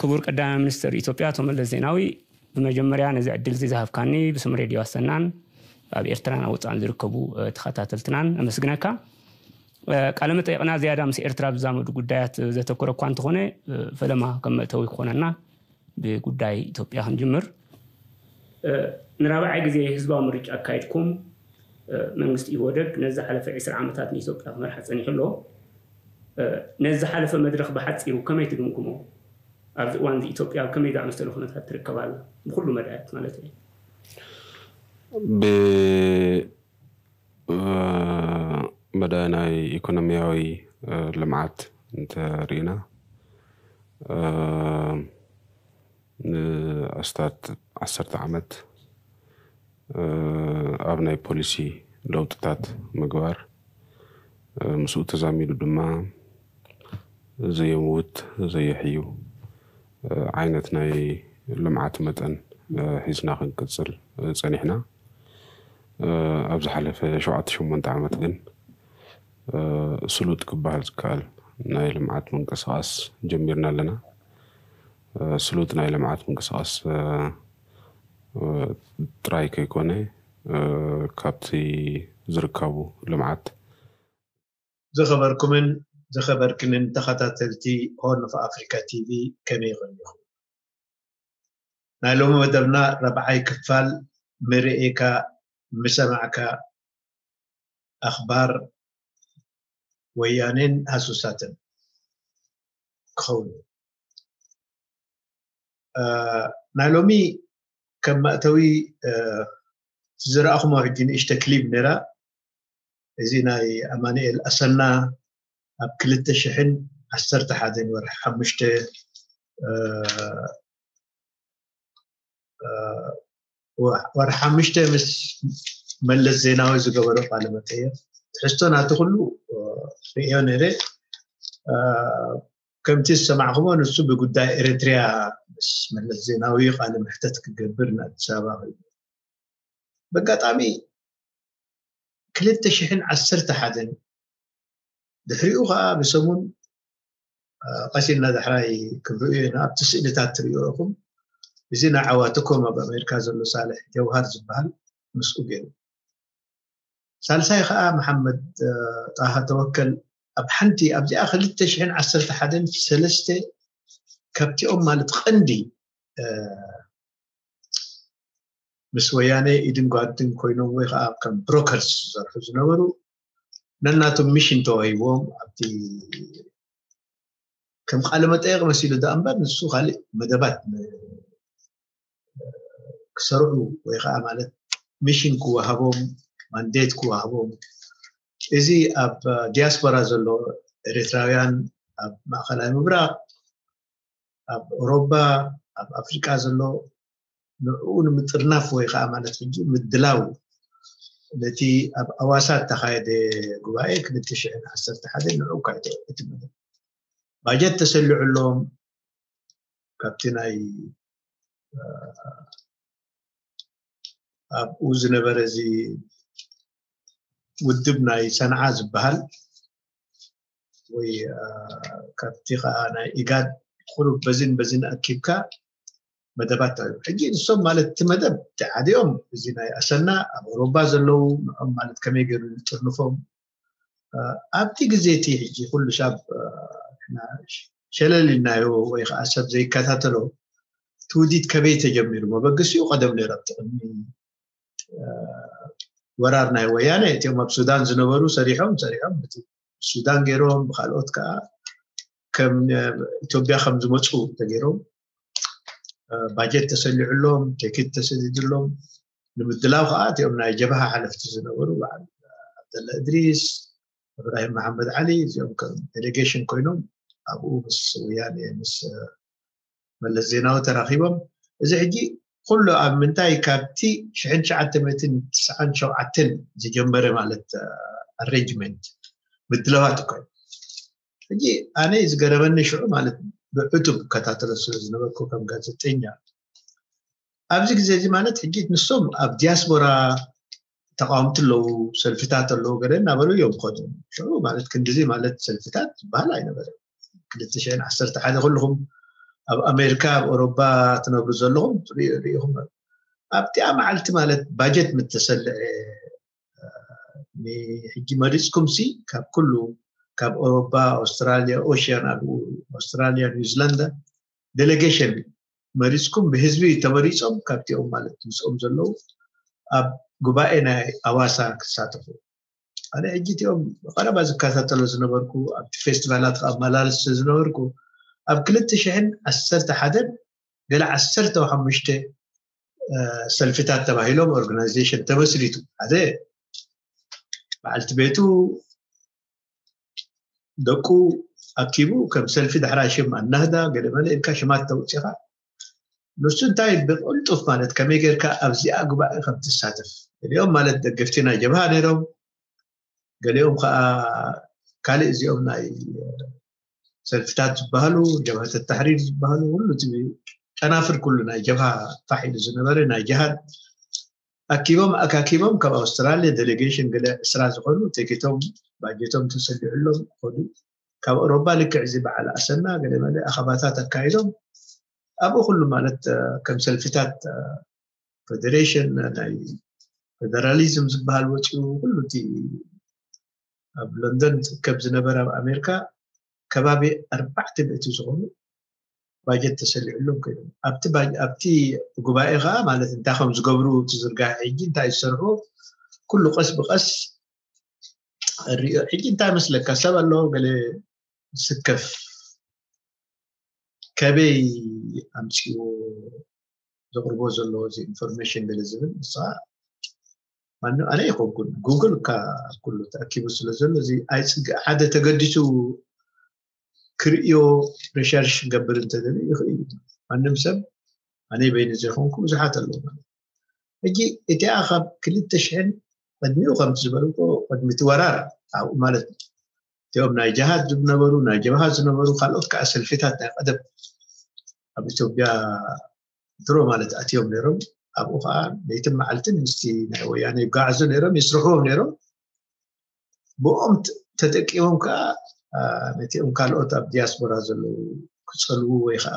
ክቡር ቀዳማይ ሚኒስትር ኢትዮጵያ ኣቶ መለስ ዜናዊ፣ ብመጀመርያ ነዚ ዕድል እዚ ዝሃብካኒ ብስም ሬድዮ ኣሰናን ኣብ ኤርትራን ኣብ ወጻእን ዝርከቡ ተኸታተልትናን ኣመስግነካ። ቃለ መጠይቕና ዝያዳ ምስ ኤርትራ ብዛመዱ ጉዳያት ዘተኮረ እኳ እንተኾነ፣ ፈለማ ከም መእተዊ ክኾነና ብጉዳይ ኢትዮጵያ ክንጅምር። ንራብዓይ ግዜ ህዝባዊ ምርጫ ኣካይድኩም። መንግስቲ ኢህወደግ ነዚ ዝሓለፈ ዕስራ ዓመታት ንኢትዮጵያ ክመርሓ ጸኒሑ ኣሎ። ነዚ ዝሓለፈ መድረኽ ብሓጺሩ ከመይ ትግምግሞ? ኣብዚ እዋን እዚ ኢትዮጵያ ኣብ ከመይ ዝኣመሰለ ኩነታት ትርከብ ኣላ? ብኹሉ መዳያት ማለት እዩ። ብ መዳይ ናይ ኢኮኖሚያዊ ልምዓት እንተሪእና፣ ንኣስታት ዓሰርተ ዓመት ኣብ ናይ ፖሊሲ ለውጥታት ምግባር፣ ምስኡ ተዛሚዱ ድማ ዘየምውት ዘየሕዩ ዓይነት ናይ ልምዓት መጠን ሒዝና ክንቅፅል ፀኒሕና። ኣብ ዝሓለፈ ሸውዓተ ሸሞንተ ዓመት ግን ስሉጥ ክበሃል ዝከኣል ናይ ልምዓት ምንቅስቃስ ጀሚርና ኣለና። ስሉጥ ናይ ልምዓት ምንቅስቃስ ጥራይ ከይኮነ፣ ካብቲ ዝርከቡ ልምዓት ዝኸበርኩምን ዝኸበርክንን ተኸታተልቲ ሆርን ኦፍ ኣፍሪካ ቲቪ ከመይ ቆኒኹም? ናይ ሎሚ መደብና ረብዓይ ክፋል ምርእካ ምሰማዕካ ኣኽባር ወያኔን ሃሱሳትን ክኸውን እዩ። ናይ ሎሚ ከም መእተዊ ዝረኣኹሞ ሕጂ ንእሽተ ክሊብ ነራ። እዚ ናይ ኣማኑኤል ኣሰና ኣብ ክልተ ሽሕን ዓሰርተ ሓደን ወርሒ ሓሙሽተ ወርሒ ሓሙሽተ ምስ መለስ ዜናዊ ዝገበሮ ቃለ መጠየቅ ትሕዝቶ ናቲ ኩሉ ርእዮ ነይረ። ከምቲ ዝሰማዕኩሞ ንሱ ብጉዳይ ኤርትርያ ምስ መለስ ዜናዊ ቃለ መሕተት ክገብር ንኣዲስ ኣበባ ከይዱ። በጋጣሚ ክልተ ሽሕን ዓሰርተ ሓደን ድሕሪኡ ከዓ ብሰሙን ቀሲልና ዳሕራይ ክብርኡ ኢና ኣብቲ ስእልታት ትሪእኹም። እዚ ናይ ዓዋትኮም ኣብ ኣሜሪካ ዘሎ ሳልሕ ጀውሃር ዝበሃል ምስኡ ገይሩ። ሳልሳይ ከዓ መሓመድ ጣሃ ተወከል ኣብ ሓንቲ ኣብዚኣ ክልተ ሽሕን ዓሰርተ ሓደን ሰለስተ ካብቲኦም ማለት ቀንዲ ምስ ወያነ ኢድን ጓድን ኮይኖም ወይ ከዓ ከም ብሮከርስ ዝሰርሑ ዝነበሩ ነናቶም ሚሽን ተዋሂብዎም ኣብቲ ከም ቃለ መጠየቅ መሲሉ ዳ እምበር ንሱ ካልእ መደባት ክሰርዑ ወይ ከዓ ማለት ሚሽን ክወሃቦም ማንዴት ክወሃቦም እዚ ኣብ ዲያስፖራ ዘሎ ኤርትራውያን ኣብ ማእኸላይ ምብራቅ ኣብ ኦሮባ ኣብ ኣፍሪቃ ዘሎ ንዕኡ ንምጥርናፍ ወይ ከዓ ማለት ሕጂ ምድላው ነቲ ኣብ ኣዋሳ እተኻየደ ጉባኤ ክልተ ሽሕን ዓሰርተ ሓደን ንዕኡ ካይቶ እቲ መደብ ባጀት ተሰሊዑሎም ካብቲ ናይ ኣብኡ ዝነበረ እዚ ውድብ ናይ ሰንዓ ዝበሃል ወይ ካብቲ ከዓ ናይ ኢጋድ ቁሩብ በዚን በዚን ኣኪብካ መደባት ኣሎ። ሕጂ ንሶም ማለት እቲ መደብ ተዓዲኦም እዚ ናይ ኣሰና ኣብ ኣውሮባ ዘለዉ ንዖም ማለት ከመይ ገይሩ ዝጥርንፎም ኣብቲ ግዜ እቲ ሕጂ ኩሉ ሰብ ሸለል ኢልናዮ ወይ ከዓ ሰብ ዘይከታተሎ ትውዲት ከበይ ተጀሚሩ መበገሲኡ ቀደም ነይሩ ኣብቲ ቅድሚ ወራር ናይ ወያነ እቲኦም ኣብ ሱዳን ዝነበሩ ሰሪሖም ሰሪሖም ሱዳን ገይሮም ብካልኦት ከዓ ከም ኢትዮጵያ ከም ዝመፁ ተገይሮም ባጀት ተሰሊዑሎም ቴክት ተሰዲድሎም ንምድላው ከዓ እቲኦም ናይ ጀብሃ ሓለፍቲ ዝነበሩ በዓል ዓብደላ እድሪስ እብራሂም መሓመድ ዓሊ እዚኦም ከም ዴሌጌሽን ኮይኖም ኣብኡ ምስ ወያነ ምስ መለስ ዜናዊ ተራኺቦም እዚ ሕጂ ኩሉ ኣብ ምንታይ ካብቲ ሽሕን ትሽዓተ ሚእትን ትስዓን ሸውዓተን ዝጀመረ ማለት ኣሬንጅመንት ምድለዋት እኮ ሕጂ ኣነ ዝገረመኒ ሽዑ ማለት ብዕቱብ እከታተሎ ስለ ዝነበርኩ ከም ጋዜጠኛ ኣብዚ ግዜ እዚ ማለት ሕጂ ንሶም ኣብ ዲያስፖራ ተቃወምቲ ኣለዉ ሰልፍታት ኣለዉ ገለ እናበሉ እዮም ከዱ ሽዑ ማለት ክንድዚ ማለት ሰልፍታት ዝበሃል ኣይነበረ ክልተ ሽሕን ዓሰርተ ሓደ ኩልኹም ኣብ ኣሜሪካ ኣብ ኤውሮጳ ትነብሩ ዘለኹም ሪኢኹም ኣብቲኣ መዓልቲ ማለት ባጀት ምተሰልዐ ሕጂ መሪፅኩም ሲ ካብ ኩሉ ካብ ኤውሮጳ ኣውስትራልያ ኦሽያን ኣብ ኣውስትራልያ ኒውዚላንዳ ዴሌጌሽን መሪፅኩም ብህዝቢ ተመሪፆም ካብቲኦም ማለት ምስኦም ዘለዉ ኣብ ጉባኤ ናይ ኣዋሳ ክሳተፉ ኣነ ሕጂ እቲኦም ቀረባ ዝከታተሎ ዝነበርኩ ኣብቲ ፌስቲቫላት ኣመላልስ ዝነበርኩ ኣብ ክልተ ሽሕን ዓሰርተ ሓደን ገለ ዓሰርተ ሓሙሽተ ሰልፊታት ተባሂሎም ኦርጋናይዜሽን ተመስሪቱ ሓደ በዓልቲ ቤቱ ደቁ ኣኪቡ ከም ሰልፊ ዳሕራይ ሽም ኣናህዳ ገለመለ ኢልካ ሽማት ተውፅኻ ንሱ እንታይ ብቅልጡፍ ማለት ከመይ ጌርካ ኣብዚኣ ጉባኤ ከም ትሳተፍ ገሊኦም ማለት ደገፍቲ ናይ ጀብሃ ነይሮም ገሊኦም ከዓ ካልእ እዚኦም ናይ ሰልፍታት ዝበሃሉ ጀብሃተ ተሕሪር ዝበሃሉ ኩሉ እቲ ጨናፍር ኩሉ ናይ ጀብሃ ፋሕ ኢሉ ዝነበረ ናይ ጅሃድ ኣኪቦም ኣካኪቦም ካብ ኣውስትራልያ ዴሌጌሽን ገለ ዕስራ ዝኾኑ ቴኬቶም ባጀቶም ተሰሊዑሎም ከዱ ካብ ኣውሮፓ ልክዕ እዚ በዓል ኣሰና ገለ መለ ኣኸባታት ኣካይዶም ኣብኡ ኩሉ ማለት ከም ሰልፍታት ፌደሬሽን ናይ ፌደራሊዝም ዝበሃል ወፂኡ ኩሉ እቲ ኣብ ለንደን ዝርከብ ዝነበረ ኣብ ኣሜሪካ ከባቢ ኣርባዕተ ሚእቲ ዝኾኑ ባጀት ተሰሊዕሎም ኮይኖም ኣብቲ ጉባኤ ከዓ ማለት እንታይ ከም ዝገብሩ ትዝርጋሕ ሕጂ እንታይ ዝሰርሑ ኩሉ ቀስ ብቀስ ሪኦ ሕጂ እንታይ መስለካ ሰብ ኣለዎ ገለ ዝስከፍ ከበይ ኣምፅዎ ዘቅርቦ ዘሎ እዚ ኢንፎርሜሽን ገለ ዝብል ንስኻ ማንም ኣነ ይኮንኩን ጉግል ካ ኩሉ ተኣኪቡ ስለ ዘሎ እዚ ኣይፅግእ ሓደ ተገዲሱ ክርእዮ ሪሰርች ክገብር እንተደልዩ ይኽእል እዩ ማንም ሰብ ኣነ በይኒ ዘይኮንኩ ብዙሓት ኣለዉ ማለት ሕጂ እቲኣ ካብ ክልተ ሽሕን ቅድሚኡ ከምቲ ዝበልኩ ቅድሚ እቲ ወራር ኣብኡ ማለት እቲኦም ናይ ጀሃድ ዝነበሩ ናይ ጀብሃ ዝነበሩ ካልኦት ከዓ ሰልፊታት ናይ ቀደም ኣብ ኢትዮጵያ ድሮ ማለት ኣትዮም ነይሮም ኣብኡ ከዓ ለይትን መዓልትን ምስቲ ናይ ወያነ ይጓዓዙ ነይሮም ይስርሕዎም ነይሮም ብኦም ተጠቂሞም ከዓ ነቲኦም ካልኦት ኣብ ዲያስፖራ ዘለዉ ክፀልዉ ወይ ከዓ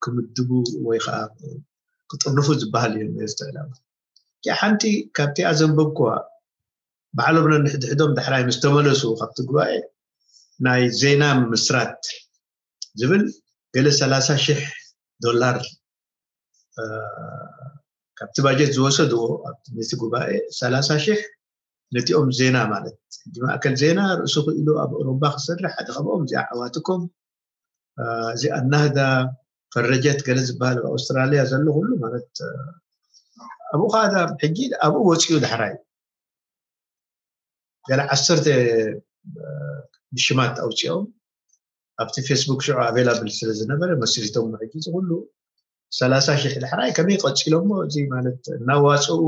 ክምድቡ ወይ ከዓ ክጥርንፉ ዝበሃል እዩ ነዚ ዕላማ ሓንቲ ካብቲኣ ዘንበብኩዋ ባዕሎም ነንሕድሕዶም ዳሕራይ ምስ ተመለሱ ካብቲ ጉባኤ ናይ ዜና ምስራት ዝብል ገለ ሰላሳ ሽሕ ዶላር ካብቲ ባጀት ዝወሰድዎ ነቲ ጉባኤ ሰላሳ ሽሕ ነቲኦም ዜና ማለት ሕጂ ማእከል ዜና ርእሱ ክኢሉ ኣብ ኣውሮባ ክሰርሕ ሓደ ካብኦም እዚኣ ዓዋትኩም እዚ ኣናህዳ ፈረጀት ገለ ዝበሃል ኣብ ኣውስትራልያ ዘሎ ኩሉ ማለት ኣብኡ ከዓ ሕጂ ኣብኡ ወፂኡ ዳሕራይ ገለ ዓሰርተ ብሽማት ኣውፅኦም ኣብቲ ፌስቡክ ሽዑ ኣቬላብል ስለ ዝነበረ መስሪቶም ሕጂ እዚ ኩሉ ሰላሳ ሽሕ ዳሕራይ ከመይ ቀፂሎሞ እዚ ማለት እናዋፅኡ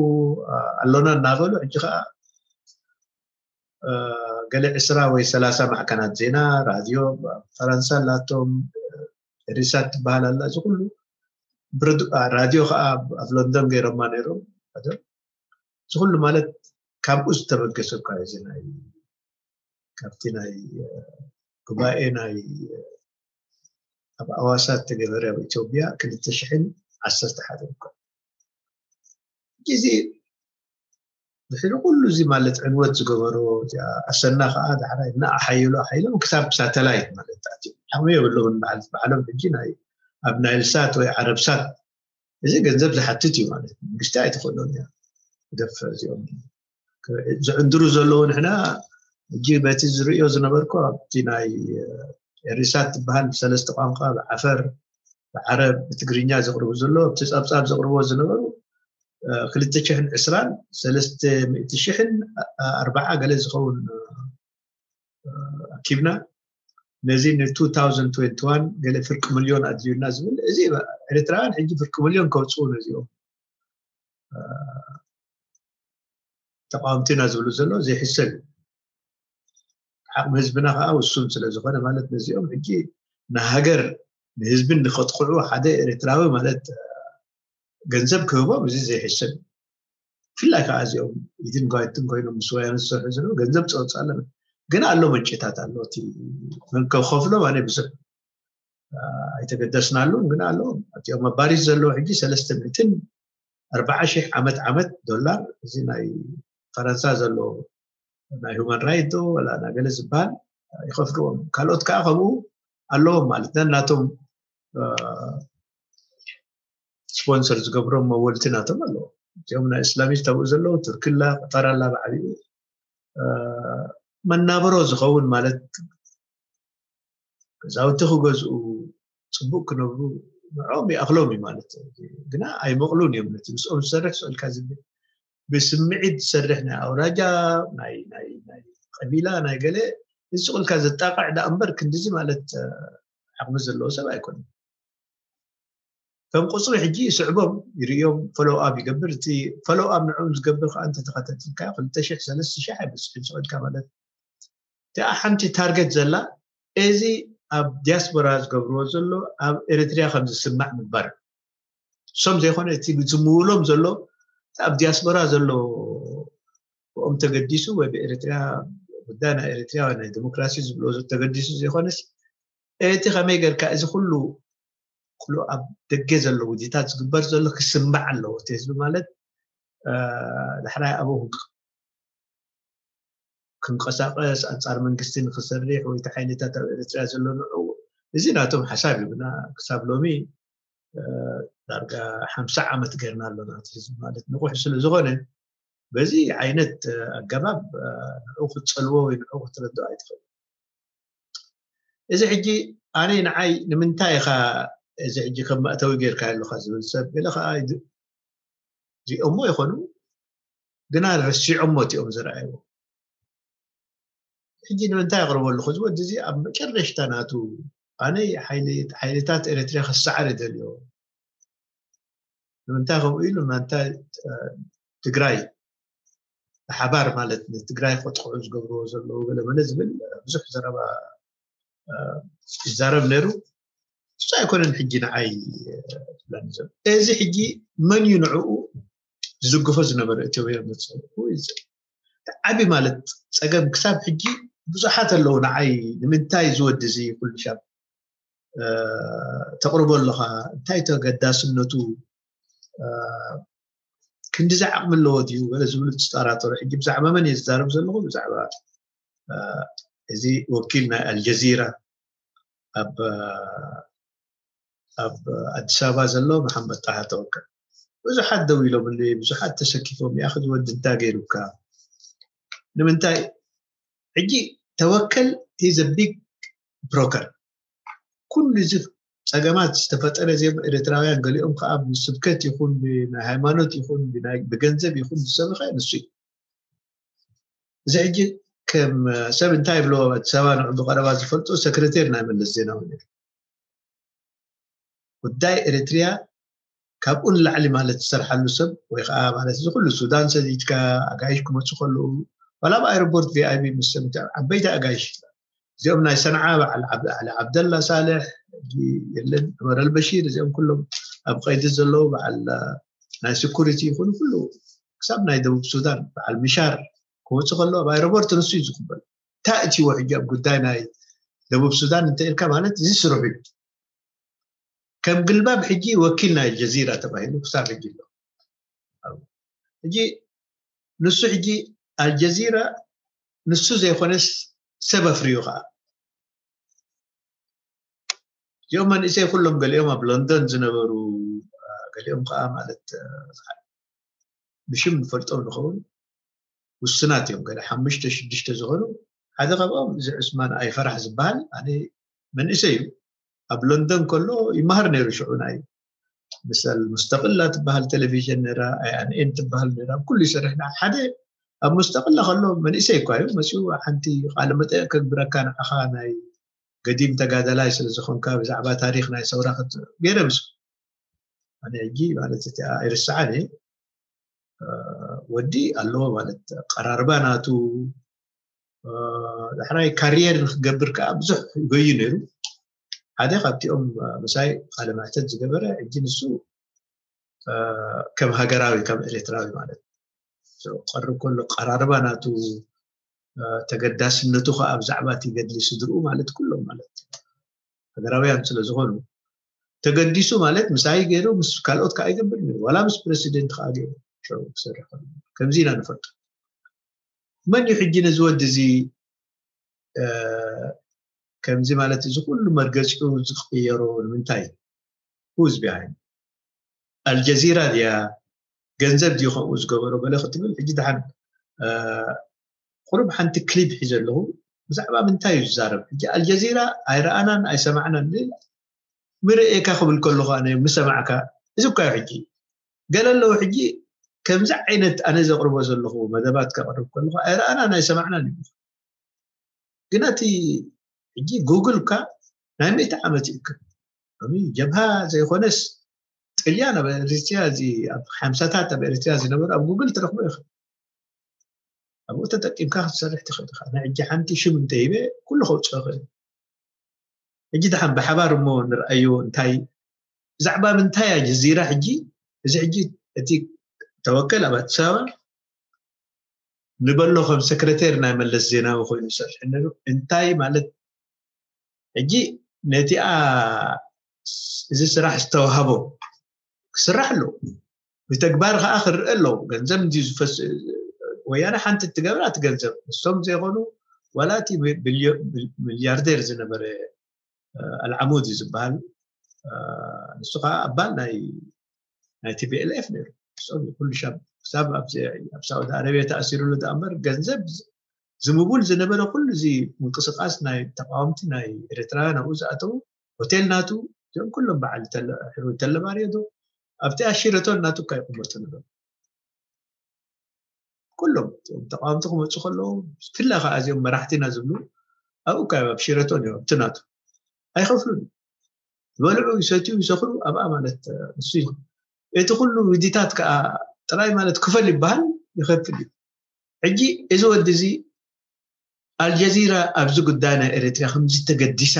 ኣሎና እናበሉ ሕጂ ከዓ ገለ ዕስራ ወይ ሰላሳ ማዕከናት ዜና ራድዮ ፈረንሳ ኣላቶም ሪሳት ትበሃል ኣላ እዚ ኩሉ ራድዮ ከዓ ኣብ ሎንዶን ገይሮማ ነይሮም እዚ ኩሉ ማለት ካብኡ ዝተበገሰ እኳ እዚ ናይ ካብቲ ናይ ጉባኤ ናይ ኣብ ኣዋሳ ዝተገበረ ኣብ ኢትዮጵያ ክልተ ሽሕን ዓሰርተ ሓደን እኳ እዚ ድሕሪ ኩሉ እዚ ማለት ዕንወት ዝገበሮ ኣሰና ከዓ ዳሕራይ እና ኣሓየሎ ኣሓይሎም ክሳብ ሳተላይት ማለት ኣትዮም ዓቕሚ የብሎምን በዓል በዓሎም ሕጂ ናይ ኣብ ናይልሳት ወይ ዓረብሳት እዚ ገንዘብ ዝሓትት እዩ ማለት መንግስቲ ኣይትኽእሎን እያ ክደፍዕ እዚኦም ዝዕንድሩ ዘለዉ ንሕና ሕጂ በቲ ዝርእዮ ዝነበርኩ ኣብቲ ናይ ሪሳት ትበሃል ብሰለስተ ቋንቋ ብዓፈር ብዓረብ ብትግርኛ ዘቕርቡ ዘሎ ኣብቲ ጸብጻብ ዘቕርብዎ ዝነበሩ ክልተ ሽሕን ዕስራን ሰለስተ ሚእቲ ሽሕን ኣርባዓ ገለ ዝኸውን ኣኪብና ነዚ ን2021 ገለ ፍርቂ ሚልዮን ኣድልዩና ዝብል እዚ ኤርትራውያን ሕጂ ፍርቂ ሚልዮን ከውፅኡ ነዚኦም ተቃወምቲ ኢና ዝብሉ ዘሎ ዘይሕሰብ እዩ ዓቕሚ ህዝብና ከዓ ውሱን ስለ ዝኾነ ማለት ነዚኦም ሕጂ ንሃገር ንህዝብን ንኸጥቅዑ ሓደ ኤርትራዊ ማለት ገንዘብ ክህቦም እዚ ዘይሕሰብ እዩ ብፍላይ ከዓ እዚኦም ኢድን ጓይትን ኮይኖም ምስ ወያነ ዝሰርሑ ዘለዉ ገንዘብ ፀወፅ ኣለና ግን ኣሎ መንጭታት ኣሎ እቲ ከከፍሎም ኣነ ብዙሕ ኣይተገደስናሉን፣ ግን ኣለዎም። ኣብቲኦም ኣብ ፓሪስ ዘለዉ ሕጂ ሰለስተ ሚእትን ኣርባዓ ሺሕ ዓመት ዓመት ዶላር፣ እዚ ናይ ፈረንሳ ዘሎ ናይ ሁማን ራይት ዶ ወላ ናይ ገለ ዝበሃል ይኸፍልዎም። ካልኦት ከዓ ከምኡ ኣለዎም ማለት ነን ናቶም ስፖንሰር ዝገብሮም መወልቲ ናቶም ኣለዎ። እዚኦም ናይ እስላሚስት ኣብኡ ዘለዉ ቱርኪ ኣላ፣ ቀጠር ኣላ ብዓቢኡ መናብሮ ዝኸውን ማለት ገዛውቲ ክገዝኡ፣ ፅቡቅ ክነብሩ ንዕኦም ይኣኽሎም እዩ ማለት እዩ። ግና ኣይመቕሉን እዮም። ነቲ ምስኦም ዝሰርሕ ስእልካ ዝብል ብስምዒት ዝሰርሕ ናይ ኣውራጃ ናይ ናይ ናይ ቀቢላ ናይ ገለ እዚ ስቕልካ ዘጣቕዕ ዳ እምበር ክንድዚ ማለት ዓቕሚ ዘለዎ ሰብ ኣይኮነን። ከም ቁፅሪ ሕጂ ይስዕቦም ይርእዮም ፈሎው ኣፕ ይገብር። እቲ ፈሎው ኣፕ ንዕኦም ዝገብር ከዓ እንተተኸታተልካ ክልተ ሽሕ ሰለስተ ሽሕ ኣይበፅሕን ስቕልካ ማለት እቲኣ ሓንቲ ታርጌት ዘላ እዚ ኣብ ዲያስፖራ ዝገብርዎ ዘሎ ኣብ ኤርትሪያ ከም ዝስማዕ ምግባር። እሶም ዘይኮነ እቲ ዝምውሎም ዘሎ እቲ ኣብ ዲያስፖራ ዘሎ ብኦም ተገዲሱ ወይ ብኤርትሪያ ጉዳይ ናይ ኤርትሪያ ወይ ናይ ዲሞክራሲ ዝብሎ ተገዲሱ ዘይኮነስ እቲ ከመይ ጌርካ እዚ ኩሉ ኩሉ ኣብ ደገ ዘሎ ውዲታት ዝግበር ዘሎ ክስማዕ ኣለዎ እቲ ህዝቢ ማለት ዳሕራይ ኣብኡ ክንቀሳቀስ ኣንፃር መንግስቲ ንክሰርሕ ወይ እቲ ሓይልታት ኣብ ኤርትራ ዘሎ ንዑ እዚ ናቶም ሓሳብ እዩ ግና ክሳብ ሎሚ ዳርጋ ሓምሳ ዓመት ገርና ኣለና እቲ ህዝቢ ማለት ንቑሕ ስለ ዝኾነ በዚ ዓይነት ኣገባብ ንዑ ክትፀልዎ ወይ ንዑ ክትረድኦ ኣይትኽእል። እዚ ሕጂ ኣነ ንዓይ ንምንታይ ኢኻ እዚ ሕጂ ከም መእተዊ ጌርካ ኣለኻ ዝብል ሰብ ገለ ከዓ ሪኦሞ ይኾኑ ግና ረሲዖሞ እቲኦም ዝረኣይዎ ሕጂ ንምንታይ ኣቕርቦ ኣለኹ እዚ ወዲ እዚ ኣብ መጨረሽታ ናቱ ኣነ ሓይልታት ኤርትራ ክሰዓር ይደልዮ ንምንታይ ከምኡ ኢሉ ናንታይ ትግራይ ብሓባር ማለት ንትግራይ ከጥቕዑ ዝገብርዎ ዘለዉ ገለመለ ዝብል ብዙሕ ዘረባ ይዛረብ ነይሩ። እሱ ኣይኮነን ሕጂ ንዓይ ዝብለኒ ዘሎ እዚ ሕጂ መን እዩ ንዕኡ ዝድግፎ ዝነበረ እትዮ መፅኡ ዓቢ ማለት ፀገም ክሳብ ሕጂ ብዙሓት ኣለዉ ንዓይ ንምንታይ ዝወዲ እዚ ኩሉ ሻብ ተቕርቦ ኣለኻ እንታይ ተገዳስነቱ ክንዲ ዝዓቕሚ ኣለዎ ድዩ ገለ ዝብሉ ዝጠራጠሩ ሕጂ ብዛዕባ መን እየ ዝዛረብ ዘለኹ ብዛዕባ እዚ ወኪል ናይ ኣልጀዚራ ኣብ ኣብ ኣዲስ ኣበባ ዘሎ መሓመድ ጣሃ ተወከል ብዙሓት ደው ኢሎምሉ ብዙሓት ተሰኪፎም ያ ዝወዲ እንታይ ገይሩካ ንምንታይ ሕጂ ተወከል is a big broker ኩሉ እዚ ፀገማት ዝተፈጠረ ዜም ኤርትራውያን ገሊኦም ከዓ ብስብከት ይኹን ብናይ ሃይማኖት ይኹን ብገንዘብ ይኹን ዝሰበኸ ንሱ እዩ እዚ ሕጂ ከም ሰብ እንታይ ይብሎ ኣዲስ ኣበባ ንዑ ብቀረባ ዝፈልጦ ሰክረቴር ናይ መለስ ዜናዊ ነይሩ ጉዳይ ኤርትርያ ካብኡ ንላዕሊ ማለት ዝሰርሓሉ ሰብ ወይ ከዓ ማለት እዚ ኩሉ ሱዳን ሰዲድካ ኣጋይሽ ክመፁ ከለዉ ዋላ ኣብ ኣይሮፖርት ቪኣይቢ ምስ ዓበይቲ ኣጋይሽ እዚኦም ናይ ሰንዓ በዓል ዓብደላ ሳልሕ የለን ዑመር ኣልበሺር እዚኦም ኩሎም ኣብ ቀይዲ ዘለዉ በዓል ናይ ስኩሪቲ ይኹኑ ኩሉ ክሳብ ናይ ደቡብ ሱዳን በዓል ምሻር ክወፁ ከለዉ ኣብ ኣይሮፖርት ንሱ እዩ ዝቅበል እንታይ እትዎ ሕጂ ኣብ ጉዳይ ናይ ደቡብ ሱዳን እንተ ኢልካ ማለት እዚ ስርሑ እዩ ከም ግልባብ ሕጂ ወኪል ናይ ኣልጀዚራ ተባሂሉ ክሳብ ሕጂ ኣሎ ሕጂ ንሱ ሕጂ ኣልጀዚራ ንሱ ዘይኮነስ ሰብ ኣፍርዩ ከዓ እዚኦም መንእሰይ ኩሎም ገሊኦም ኣብ ሎንዶን ዝነበሩ ገሊኦም ከዓ ማለት ብሽም ንፈልጦም ንኸውን ውስናት እዮም ገለ ሓሙሽተ ሽዱሽተ ዝኾኑ ሓደ ካብኦም እዚ ዑስማን ኣይፈራሕ ዝበሃል ኣነ መንእሰይ እዩ ኣብ ሎንደን ከሎ ይመሃር ነይሩ ሽዑ ናይ ምሰል ሙስተቅላ ትበሃል ቴሌቪዥን ነራ ኣይኣንኤን ትበሃል ነራ ኩሉ ይሰርሕ ሓደ ኣብ ሙስተቅላ ከሎ መንእሰይ እኳ እዩ መፅኡ ሓንቲ ቃለ መጠየቅ ከግብረካ ንዓኻ ናይ ገዲም ተጋዳላይ ስለ ዝኾንካ ብዛዕባ ታሪክ ናይ ሰውራ ገይረ ምስ ኣነ ሕጂ ማለት እቲ ኣይርስዓን እየ ወዲ ኣለዎ ማለት ቀራርባ ናቱ ዳሕራይ ካሪየር ንክገብር ከዓ ብዙሕ ይጎዩ ነይሩ ሓደ ካብቲኦም ምሳይ ቃለ መሕተት ዝገበረ ሕጂ ንሱ ከም ሃገራዊ ከም ኤርትራዊ ማለት ቀርብ ከሎ ቀራርባ ናቱ ተገዳስነቱ ከዓ ብዛዕባ እቲ ገድሊ ስድርኡ ማለት ኩሎም ማለት ሃገራውያን ስለ ዝኾኑ፣ ተገዲሱ ማለት ምሳይ ገይሩ ምስ ካልኦት ከዓ ይገብር ነይሩ። ዋላ ምስ ፕረሲደንት ከዓ ገይሩ ሸው ክሰርሕ ከሎ። ከምዚ ኢና ንፈልጦ። መን እዩ ሕጂ ነዚ ወዲ እዚ እ፣ ከምዚ ማለት እዚ ኩሉ መርገፂኡ ዝቅየሮ ንምንታይ? Who's behind? ኣልጀዚራ ድያ? ገንዘብ ድዩ ከምኡ ዝገበሮ? ገለ ክትብል ሕጂ ደሓን እ፣ ቁሩብ ሓንቲ ክሊፕ ሒዘ ኣለኹ። ብዛዕባ ምንታይ እዩ ዝዛረብ? ሕጂ ኣልጀዚራ ኣይረኣናን ኣይሰማዕናን ዝብል ምርእየካ ክብል ከለኹ ኣነ ምሰማዕካ እዚ እኳ እዩ። ሕጂ ገለ ኣለዉ ሕጂ ከምዚ ዓይነት ኣነ ዘቕርቦ ዘለኹ መደባት ከቕርብ ከለኹ ኣይረኣናን ኣይሰማዕናን እዩ። ግን እቲ ሕጂ ጉግል እኳ ናይ ሚእቲ ዓመት ይእክል። ሎሚ ጀብሃ ዘይኮነስ ጥልያን ኣብ ኤሪትሪያ እዚ ኣብ ሓምሳታት ኣብ ኤሪትሪያ ዝነበሩ ኣብ ጉግል ትረኽቦ ኢኻ። ኣብኡ ተጠቂምካ ክትሰርሕ ትኽእል ኢኻ። ናይ ሕጂ ሓንቲ ሽም እንተሂበ ኩሉ ከውፅኦ ይኽእል። ሕጂ ደሓን ብሓባር እሞ ንርኣዮ እንታይ ብዛዕባ ምንታይ እያ ጀዚራ ሕጂ እዚ ሕጂ እቲ ተወከል ኣብ ኣዲስ ኣበባ ንበሎ ከም ሰክረቴር ናይ መለስ ዜናዊ ኮይኑ ይሰርሕ ነሩ እንታይ ማለት ሕጂ ነቲኣ እዚ ስራሕ ዝተዋህቦ ክስራሕ ኣለዎ ብተግባር ከዓ ክርአ ኣለዎ ገንዘብ እንዲ ዝፈስ ወያነ ሓንቲ እትገብራ እቲ ገንዘብ እሶም ዘይኮኑ ዋላ እቲ ሚልያርዴር ዝነበረ ኣልዓሙድ እዩ ዝበሃል ንሱ ከዓ ኣባል ናይ ናይ ቲፒኤልኤፍ ነይሩ። ንሶም ኩሉ ሻብ ክሳብ ኣብ ሳውዲ ኣረቢያ ተኣሲሩሉ ደኣ እምበር ገንዘብ ዝምቡል ዝነበረ ኩሉ እዚ ምንቅስቃስ ናይ ተቃወምቲ ናይ ኤርትራውያን ኣብኡ ዝኣተዉ ሆቴል ናቱ እዚኦም ኩሎም በዓል ተለባርዮ ዶ ኣብቲ ኣሽረቶን ናቱ እካ ይቅመጡ ነበሩ። ኩሎም ተቃወምቲ ክመፁ ከለዉ ብፍላይ ከዓ እዚኦም መራሕቲና ዝብሉ ኣብኡ እካ ኣብ ሽረቶን እዮም ኣብቲ ናቱ ኣይኸፍሉን ዝበልዑ ይሰትዩ ይሰኽሩ ኣብኣ ማለት ንሱ እዩ እቲ ኩሉ ውዲታት ከዓ ጥራይ ማለት ክፈል ይበሃል ይኸፍል እዩ ሕጂ እዚ ወዲ እዚ ኣልጀዚራ ኣብዚ ጉዳይ ናይ ኤርትራ ከምዚ ተገዲሳ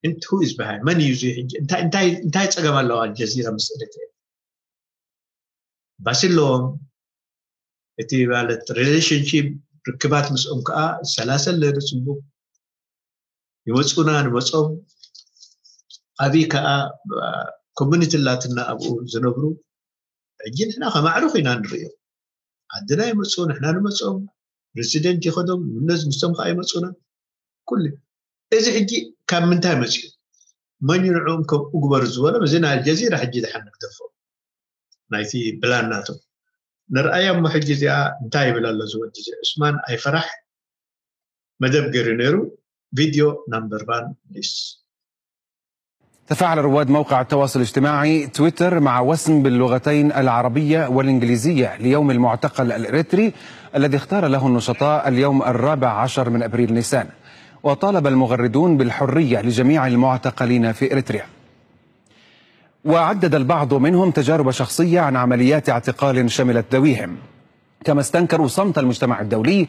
እንት who is behind መን እዩ እዚ ሕጂ እንታይ እንታይ እንታይ ጸገም ኣለዋ ኣልጀዚራ ምስ ኤርትራ ባሲ ኣለዎም እቲ ማለት relationship ርክባት ምስኦም ከዓ ይሰላሰል ነይሩ ፅቡቅ ይመፁና ንመፆም ኣብይ ከዓ ኮሚኒቲ ላትና ኣብኡ ዝነብሩ ሕጂ ንሕና ከማዕርኹ ኢና ንርእዮ ዓድና ይመፁ ንሕና ንመፆም ፕሬዚደንት ይኸዶም ምነዝ ምስቶም ከዓ ይመፁና ኩሉ እዚ ሕጂ ካብ ምንታይ መፅኡ መን ንዕኦም ከም እግበሩ ዝበሎም እዚ ናይ ኣልጀዚራ ሕጂ ድሓን ንግደፎ ናይቲ ብላን ናቶም ንርኣያ እሞ ሕጂ እዚኣ እንታይ ይብል ኣሎ ዝወዲ እዚ ዑስማን ኣይፈራሕ መደብ ገይሩ ነይሩ ቪድዮ ናምበር ቫን ፕሊስ تفاعل رواد موقع التواصل الاجتماعي تويتر مع وسم باللغتين العربية والإنجليزية ليوم المعتقل الإريتري الذي اختار له النشطاء اليوم الرابع عشر من أبريل نيسان، وطالب المغردون بالحرية لجميع المعتقلين في إريتريا. وعدد البعض منهم تجارب شخصية عن عمليات اعتقال شملت ذويهم، كما استنكروا صمت المجتمع الدولي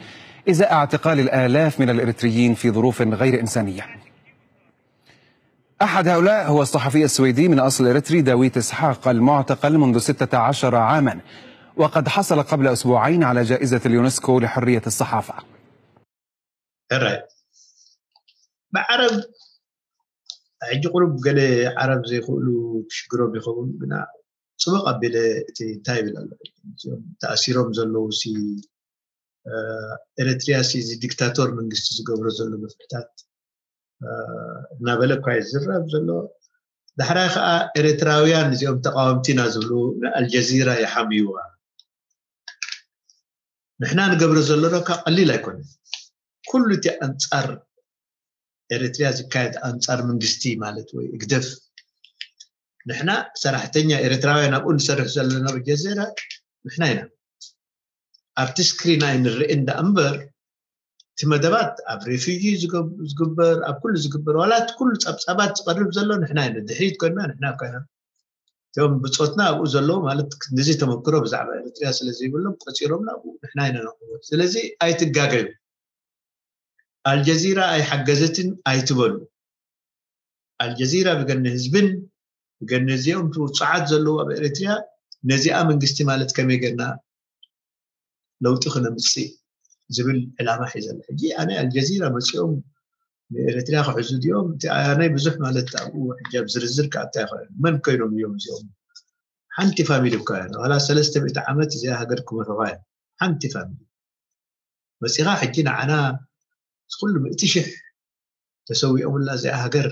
إزاء اعتقال الآلاف من الإريتريين في ظروف غير إنسانية. أحد هؤلاء هو الصحفي السويدي من أصل إريتري داويت إسحاق، المعتقل منذ ستة عشر عاما، وقد حصل قبل أسبوعين على جائزة اليونسكو لحرية الصحافة. ሕራይ ብዓረብ ሕጂ ቁሩብ ገለ ዓረብ ዘይክእሉ ክሽግሮም ይኸውን ግና ፅቡቅ ኣቢለ እቲ እንታይ ይብል ኣሎ እዚኦም ተኣሲሮም ዘለዉ ሲ ኤረትርያ ሲ እዚ ዲክታቶር መንግስቲ ዝገብሮ ዘሎ መፍትሕታት እናበለ እኳ ይዝረብ ዘሎ ዳሕራይ ከዓ ኤረትራውያን እዚኦም ተቃወምቲ ኢና ዝብሉ ንኣልጀዚራ ይሓምይዋ ንሕና ንገብሮ ዘሎ ዶ ካብ ቀሊል ኣይኮነ ኩሉ እቲ ኣንፃር ኤረትርያ ዝካየድ ኣንፃር መንግስቲ ማለት ወይ እግደፍ ንሕና ሰራሕተኛ ኤረትራውያን ኣብኡ ንሰርሕ ዘለና ብጀዜራ ንሕና ኢና ኣብቲ ስክሪን ኣይንርኢ እንዳ እምበር እቲ መደባት ኣብ ሬፊጂ ዝግበር ኣብ ኩሉ ዝግበር ዋላ እቲ ኩሉ ፀብፃባት ዝቀርብ ዘሎ ንሕና ኢና ድሕሪት ኮይና ንሕና ኮይና እቶም ብፆትና ኣብኡ ዘለዉ ማለት ክንድዚ ተመክሮ ብዛዕባ ኤርትርያ ስለ ዘይብሎም ቆፂሮምና ኣብኡ ንሕና ኢና ነቕርቦ ስለዚ ኣይትጋገዩ ኣልጀዚራ ኣይሓገዘትን ኣይትበሉ ኣልጀዚራ ብገነ ህዝብን ብገነ እዚኦም ውፅዓት ዘለዉ ኣብ ኤርትርያ ነዚኣ መንግስቲ ማለት ከመይ ገርና ለውጢ ክነምፅእ ዝብል ዕላማ ሒዘ ኣሎ ሕጂ ኣነ ኣልጀዚራ መፂኦም ንኤርትራ ክሕዙ ድዮም? እቲ ኣያናይ ብዙሕ ማለት ኣብኡ ሕጂ ኣብ ዝርዝር ክኣቱ ኣይኽእልን። መን ኮይኖም እዮም እዚኦም? ሓንቲ ፋሚሊ እኳ እያ። ዋላ ሰለስተ ሚእቲ ዓመት እዚኣ ሃገር ክመርሑኻ እዮም። ሓንቲ ፋሚሊ መፂኻ ሕጂ ንዓና ኩሉ ምእቲ ሽሕ ተሰዊኦምላ እዚኣ ሃገር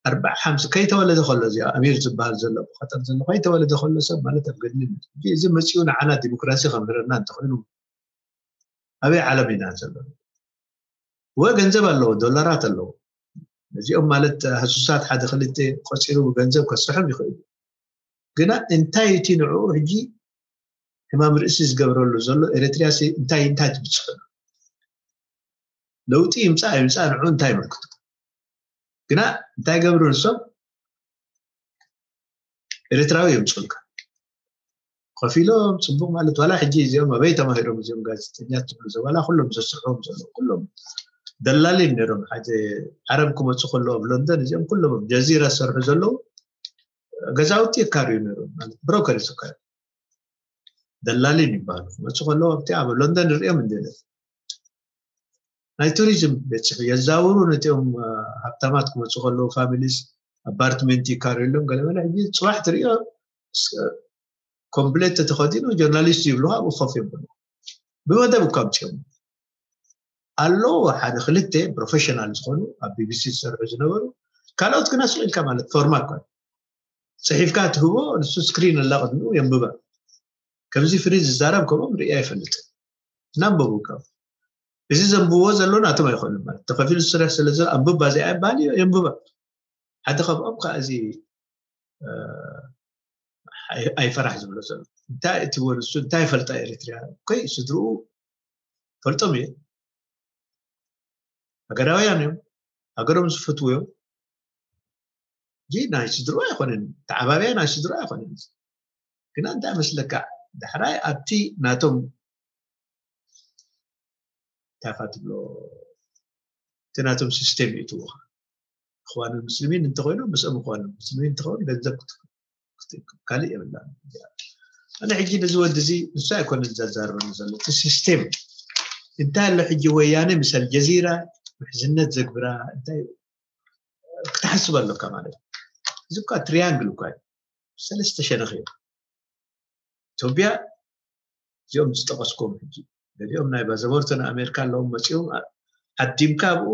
ኣርባዓ ሓምሳ ከይተወለደ ከሎ እዚኣ ኣሚር ዝበሃል ዘሎ ብቀጠር ዘሎ ከይተወለደ ከሎ ሰብ ማለት ኣብ ገድሊ እዩ። ሕጂ እዚ መፂኡ ንዓና ዲሞክራሲ ከምህረና እንተኮይኑ ኣበይ ዓለም ኢና ዘሎ? ወ ገንዘብ ኣለዎ፣ ዶላራት ኣለዎ። እዚኦም ማለት ህሱሳት ሓደ ክልተ ቆፂሩ ብገንዘብ ከስርሖም ይኽእል እዩ። ግና እንታይ እቲ ንዕኡ ሕጂ ሕማም ርእሲ ዝገብረሉ ዘሎ? ኤርትሪያ እንታይ እንታይ ትብፅሑ? ለውጢ ይምፃእ ይምፃእ ንዕኡ እንታይ ይምልክቱ? ግና እንታይ ገብሩ ንሶም? ኤርትራዊ የምፅኡልካ። ከፊሎም ፅቡቅ ማለት ዋላ ሕጂ እዚኦም ኣበይ ተማሂሮም እዚኦም ጋዜጠኛ ትብሉ ዘ ዋላ ኩሎም ዘስርሖም ዘለዉ ኩሎም ደላሊን ነይሮም። ሓደ ዓረብ ክመፁ ከለዉ ኣብ ሎንደን እዚኦም ኩሎም ኣብ ጀዚራ ዝሰርሑ ዘለዉ ገዛውቲ የካርዩ ነይሮም ማለት ብሮከር ይስካዩ ደላሊን ይበሃሉ። ክመፁ ከለዉ ኣብቲ ኣብ ሎንደን ንሪኦም እንደ ናይ ቱሪዝም ቤት ጽሕፈት የዛውሩ ነቲኦም ሃብታማት ክመፁ ከለዉ ፋሚሊስ ኣፓርትመንት ይካርዩሎም ገለመለ። ሕጂ ፅባሕ ትሪኦ ኮምፕሌት ተተኸዲኑ ጆርናሊስት ይብሉ ኣብኡ ኮፍ የብሉ ብመደብ እኳ ኣምፅኦም ኣለዉ። ሓደ ክልተ ፕሮፌሽናል ዝኾኑ ኣብ ቢቢሲ ዝሰርሑ ዝነበሩ ካልኦት ግና ስቕ ኢልካ ማለት ፎርማ እኳ ፅሒፍካ ትህቦ ንሱ ስክሪን ኣላ ቅድሚኡ የንብባ። ከምዚ ፍሪ ዝዛረብ ከምኦም ርኢ ኣይፈልጥን። እናንበቡ ካብ እዚ ዘንብብዎ ዘሎ ናቶም ኣይኮኑን ማለት ተኸፊሉ ዝስራሕ ስለ ዘሎ ኣንብባ እዚኣ ይበሃል እዩ የንብባ። ሓደ ካብኦም ከዓ እዚ ኣይፈራሕ ዝብሎ ዘሎ እንታይ እቲ ወንሱ እንታይ ይፈልጣ ኤርትርያ ኮይ ስድርኡ ፈልጦም እየ ሃገራውያን እዮም ሃገሮም ዝፈትዉ እዮም ጂ ናይ ስድርኡ ኣይኮነን ተዓባብያ ናይ ስድርኡ ኣይኮነን ግና እንታይ መስለካ ዳሕራይ ኣብቲ ናቶም እንታይ ትብሎ እቲ ናቶም ሲስቴም ይእትዎ እኽዋን ሙስሊሚን እንተኮይኖም ምስኦም እኽዋን ሙስሊሚን እንተኸውን ገንዘብ ካልእ የብላ ኣነ ሕጂ ነዚ ወዲ እዚ ንሱ ኣይኮነ ዘዛርበኒ ዘሎ እቲ ሲስቴም እንታይ ኣሎ ሕጂ ወያነ ምስ ኣልጀዚራ ምሕዝነት ዘግብራ እንታይ ክትሓስብ ኣለካ ማለት እዚ እኳ ትሪያንግል እኳ እዩ ሰለስተ ሸነኽ እዮም ኢትዮጵያ እዚኦም ዝጠቐስኩም ሕጂ ገሊኦም ናይ ባዘቦርቶ ንኣሜሪካ ኣለዎም መፂኦም ዓዲምካ ኣብኡ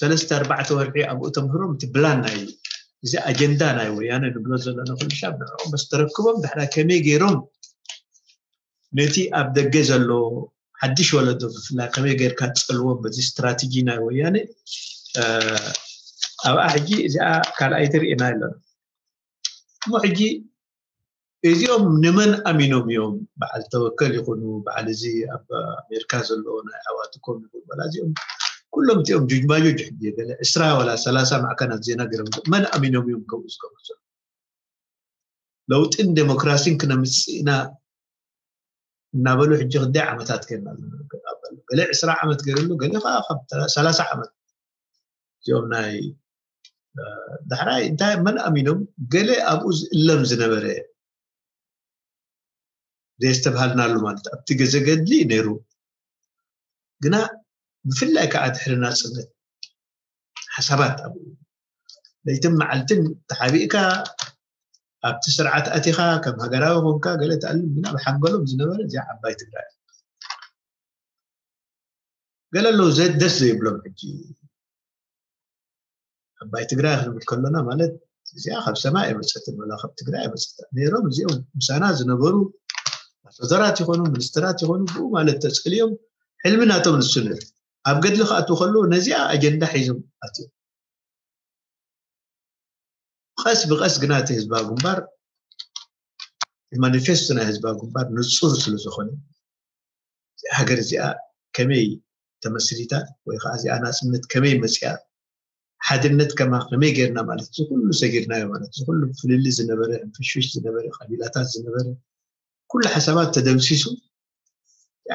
ሰለስተ ኣርባዕተ ወርሒ ኣብኡ ተምህሮም እቲ ብላን ናይ እዚ ኣጀንዳ ናይ ወያነ ንብሎ ዘለና ኩሉ ሻብ ንዕኦም በስ ተረክቦም ድሕራ ከመይ ገይሮም ነቲ ኣብ ደገ ዘሎ ሓድሽ ወለዶ ብፍላይ ከመይ ገይርካ ትፀልዎም በዚ ስትራቴጂ ናይ ወያነ ኣብኣ ሕጂ እዚኣ ካልኣይቲ ርኢና ኣለና እሞ ሕጂ እዚኦም ንመን ኣሚኖም እዮም በዓል ተወከል ይኹኑ በዓል እዚ ኣብ ኣሜሪካ ዘለዎ ናይ ኣዋትኮም ይኹኑ በላ እዚኦም ኩሎም እቲኦም ጁጅማጆጅ ሕጂ ገለ ዕስራ ወላ ሰላሳ ማዕከናት ዜና ገይሮም መን ኣሚኖም እዮም ከምኡ ዝገብሩ ዘሎ ለውጥን ዴሞክራሲን ክነምፅእ ኢና እናበሉ ሕጂ ክንደይ ዓመታት ገና ገለ ዕስራ ዓመት ገይርሉ ገለ ከዓ ካብ ሰላሳ ዓመት እዚኦም ናይ ዳሕራይ እንታይ መን ኣሚኖም ገለ ኣብኡ ዝእለም ዝነበረ ዘየስተብሃልናሉ ማለት ኣብቲ ገዘ ገድሊ ነይሩ ግና ብፍላይ ከዓ ድሕሪ ናፅነት ሓሳባት ኣብኡ ለይትን መዓልትን ተሓቢእካ ኣብቲ ስርዓት ኣቲኻ ከም ሃገራዊ ኮንካ ገለ ትኣልም ግና ብሓንገሎም ዝነበረ እዚኣ ዓባይ ትግራይ ገለ ኣለዉ ደስ ዘይብሎም ሕጂ ዓባይ ትግራይ ክንብል ከሎና ማለት እዚኣ ካብ ሰማይ ኣይመፀትን ወላ ካብ ትግራይ ኣይመፀት ነይሮም እዚኦም ምሳና ዝነበሩ ኣሰደራት ይኾኑ ሚኒስትራት ይኾኑ ብኡ ማለት ተፀልዮም ሕልሚ ናቶም ንሱ ነይሩ ኣብ ገድሊ ክኣትዉ ከለዉ ነዚኣ ኣጀንዳ ሒዞም ኣትዮም ቀስ ብቐስ ግና እቲ ህዝባዊ ግንባር ማኒፌስቶ ናይ ህዝባዊ ግንባር ንፁር ስለ ዝኾነ ሃገር እዚኣ ከመይ ተመስሪታ ወይ ከዓ እዚኣ ናፅነት ከመይ መፅያ ሓድነት ከማ ከመይ ጌርና ማለት እዚ ኩሉ ሰጊርናዮ ማለት እዚ ኩሉ ፍልሊ ዝነበረ ሕንፍሽፍሽ ዝነበረ ቀቢላታት ዝነበረ ኩሉ ሓሳባት ተደምሲሱ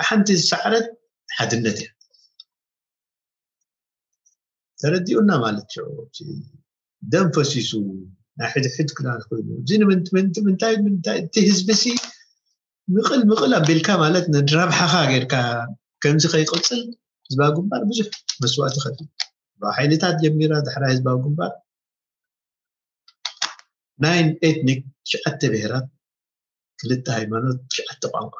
ሓንቲ ዝሰዓረት ሓድነት እያ ተረዲኡና ማለት እዩ ደም ፈሲሱ ናይ ሕድሕድ ክዳን ኮይኑ እዚ ንምንታይ ምንታይ እቲ ህዝቢ ሲ ምቕል ምቕል ኣቢልካ ማለት ንረብሓኻ ጌርካ ከምዚ ከይቅፅል ህዝባዊ ግንባር ብዙሕ መስዋእቲ ከፊሉ። ካብ ሓይልታት ጀሚራ፣ ዳሕራይ ህዝባዊ ግንባር ናይን ኤትኒክ፣ ትሽዓተ ብሄራት፣ ክልተ ሃይማኖት፣ ትሽዓተ ቋንቋ።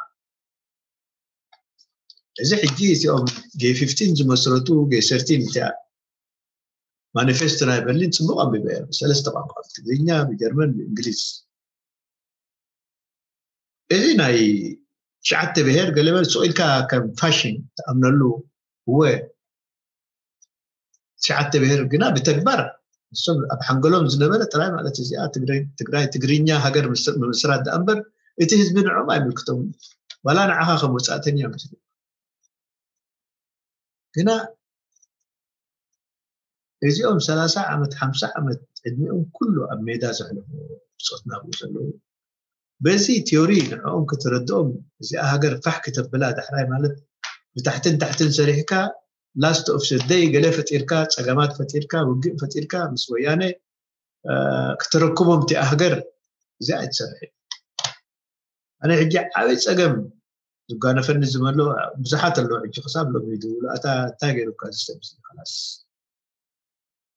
እዚ ሕጂ እዚኦም ጌይ ፊፍቲን ዝመስረቱ፣ ጌይ ሰርቲን እቲኣ ማኒፌስቶ ናይ በርሊን ጽቡቕ ኣንቢበ እየ፣ ብሰለስተ ቋንቋ፣ ብትግርኛ፣ ብጀርመን፣ ብእንግሊዝ። እዚ ናይ ትሽዓተ ብሄር ገለመለ ስቕ ኢልካ ከም ፋሽን ትኣምነሉ፣ እወ፣ ትሽዓተ ብሄር ግና ብተግባር እሶም ኣብ ሓንገሎም ዝነበረ ጥራይ ማለት እዚኣ ትግራይ ትግራይ ትግርኛ ሃገር ምስ- ምምስራት ደኣ እምበር እቲ ህዝቢ ንዕኦም ኣይምልክቶም። ዋላ ንዓኻ ከም ወፃእተኛ ምስሉ ግና እዚኦም ሰላሳ ዓመት ሓምሳ ዓመት ዕድሚኦም ኩሉ ኣብ ሜዳ ዘሕለፉ ብፆት ናብኡ ዘለዉ በዚ ቲዮሪ ንዕኦም ክትረድኦም እዚኣ ሃገር ፋሕ ክተብላ ዳሕራይ ማለት ብታሕትን ታሕትን ሰሪሕካ last of the day ገለ ፈጢርካ ፀገማት ፈጢርካ ውግእ ፈጢርካ ምስ ወያነ ክተረክቦም እቲኣ ሃገር እዚኣ ኣይትሰርሕ ኣነ ሕጂ ዓበይ ፀገም ዝጓነፈኒ ዝመሎ ብዙሓት ኣለዉ ሕጂ ክሳብ ሎሚ ይድውሉ ኣታ እንታይ ገይሩካ ዝሰብ ላስ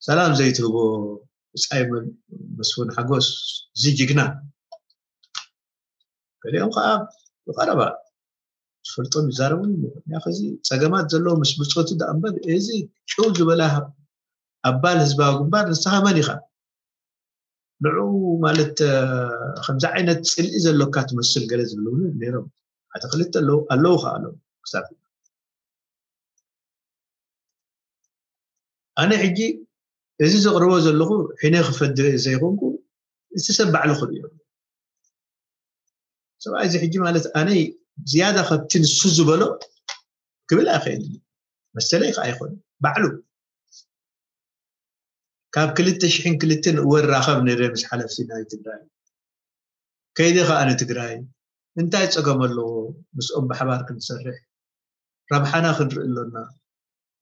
ሰላም ዘይትህቦ ብፃይ መስፍን ሓጎስ እዚ ጅግና ገሊኦም ከዓ ብቀረባ ዝፈልጦም ይዛረቡ ከዚ ፀገማት ዘለዎ ምስ ብፆቱ ዳኣ እምበር እዚ ጭው ዝበላ ኣባል ህዝባዊ ግንባር ንስኻ መን ኢኻ ንዑ ማለት ከምዚ ዓይነት ፅልኢ ዘሎካ ትመስል ገለ ዝብሉ ነይሮም ሓደ ክልተ ኣለዉ ኣለዉ ከዓ ኣለዉ ክሳብ ኣነ ሕጂ እዚ ዘቕርቦ ዘለኹ ሕነ ክፈድ ዘይኮንኩ እቲ ሰብ ባዕሉ ክርእዮ ሰብኣይ እዚ ሕጂ ማለት ኣነ ዝያዳ ከብቲ ንሱ ዝበሎ ክብል ኣይኽእል መሰለይ ከዓ ኣይኮነ ባዕሉ ካብ ክልተ ሽሕን ክልተን እወ ራኸብ ነይረ ምስ ሓለፍቲ ናይ ትግራይ ከይደ ከዓ ንትግራይ እንታይ ፀገም ኣለዎ ምስኦም ብሓባር ክንሰርሕ ረብሓና ክንርኢ ኣሎና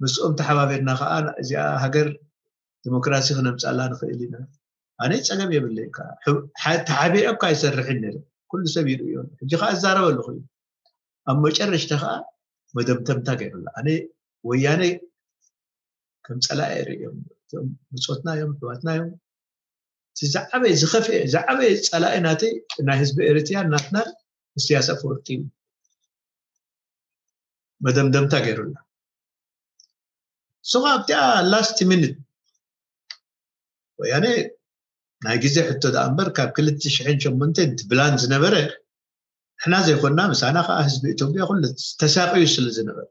ምስኦም ተሓባቢርና ከዓ እዚኣ ሃገር ዲሞክራሲ ክነምፅኣላ ንኽእል ኢና ኣነ ፀገም የብለይ ተሓቢረ እኳ ኣይሰርሕን ነይረ ኩሉ ሰብ ይርእዮ ሕጂ ከዓ እዛረብ ኣለኹ እዩ ኣብ መጨረሽታ ከዓ መደምተምታ ገይሩላ ኣነ ወያነ ከም ፀላኢ ይርእዮም እቶም ብፆትና እዮም ኣሕዋትና እዮም እቲ ዝዓበየ ዝኸፍአ ዝዓበየ ፀላኢ ናተይ ናይ ህዝቢ ኤርትያ ናትና ኢሳያስ ኣፈወርቂ እዩ መደምደምታ ገይሩላ እሱ ከዓ ኣብቲኣ last minute ወያነ ናይ ግዜ ሕቶ ደኣ እምበር ካብ ክልተ ሽሕን ሸሞንተን እቲ ብላን ዝነበረ ንሕና ዘይኮንና ምሳና ከዓ ህዝቢ ኢትዮጵያ ኩሉ ተሳቅዩ ስለ ዝነበረ